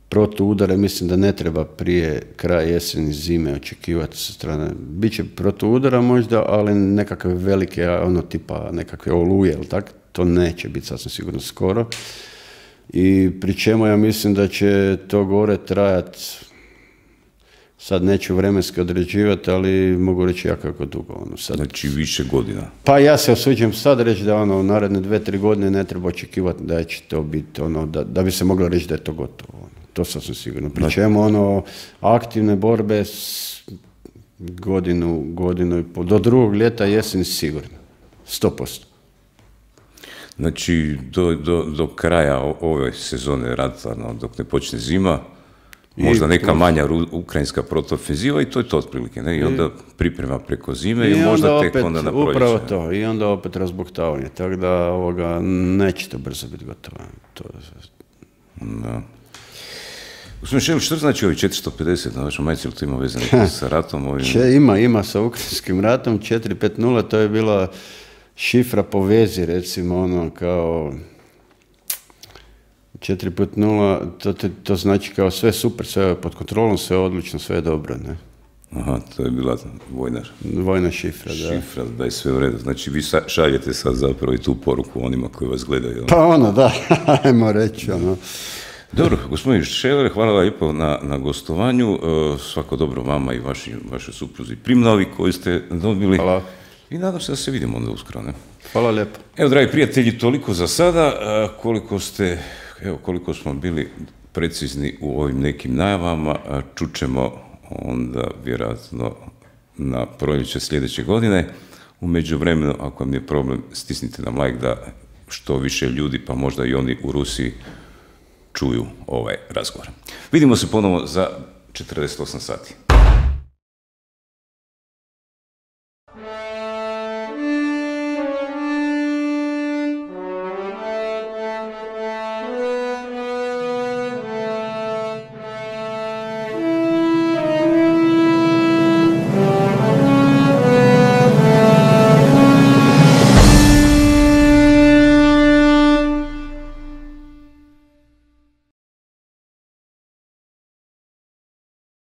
protuudare, mislim da ne treba prije kraja jeseni, zime očekivati sa strane. Biće protuudara možda, ali nekakve velike, ono tipa nekakve oluje, ili tako, to neće biti sasvim sigurno skoro. I pri čemu ja mislim da će to gore trajati, sad neću vremenski određivati, ali mogu reći jako, jako dugo. Ono, sad.
Znači više godina.
Pa ja se osuđujem sad reći da ono, u naredne dve, tri godine ne treba očekivati da će to biti, ono, da, da bi se moglo reći da je to gotovo. Ono. To sasvim sigurno. Pri čemu ono, aktivne borbe s godinu, godinu i pol, do drugog ljeta jesen sigurno. Sto posto.
Znači, do, do, do kraja ove sezone rata, no, dok ne počne zima, možda neka manja ukrajinska protuofenziva i to je to otprilike, ne? I onda priprema preko zime i, i možda tek onda na proljeće.
Upravo to, i onda opet razbuktavanje, tako da ovoga, neće to brzo biti gotovo. To...
Da. Gospodin Šelić, što znači ovi četiristo pedeset na vašom majici, ili to ima veze neko sa ratom? Ovim...
Če, ima, ima sa ukrajinskim ratom, četiri pet nula, to je bila šifra po vezi, recimo, ono, kao... četiri pet nula, to, to, to znači kao sve super, sve pod kontrolom, sve odlično, sve je dobro, ne?
Aha, to je bila vojna,
vojna šifra, da.
Šifra, da je sve u redu. Znači, vi šaljete sad zapravo i tu poruku onima koji vas gledaju.
Pa ono, da, ajmo reći, ono.
Dobro, gospodin Šeler, hvala vam lijepo na, na gostovanju. Svako dobro vama i vaši, vašoj supruzi Primnovi koji ste dobili.
Hvala.
I nadam se da se vidimo onda uskoro, ne?
Hvala lijepo.
Evo, dragi prijatelji, toliko za sada. Koliko ste, evo, koliko smo bili precizni u ovim nekim najavama, čućemo onda vjerojatno na proljeće sljedeće godine. U međuvremenu, ako vam je problem, stisnite nam like da što više ljudi, pa možda i oni u Rusiji, čuju ovaj razgovor. Vidimo se ponovo za četrdeset osam sati.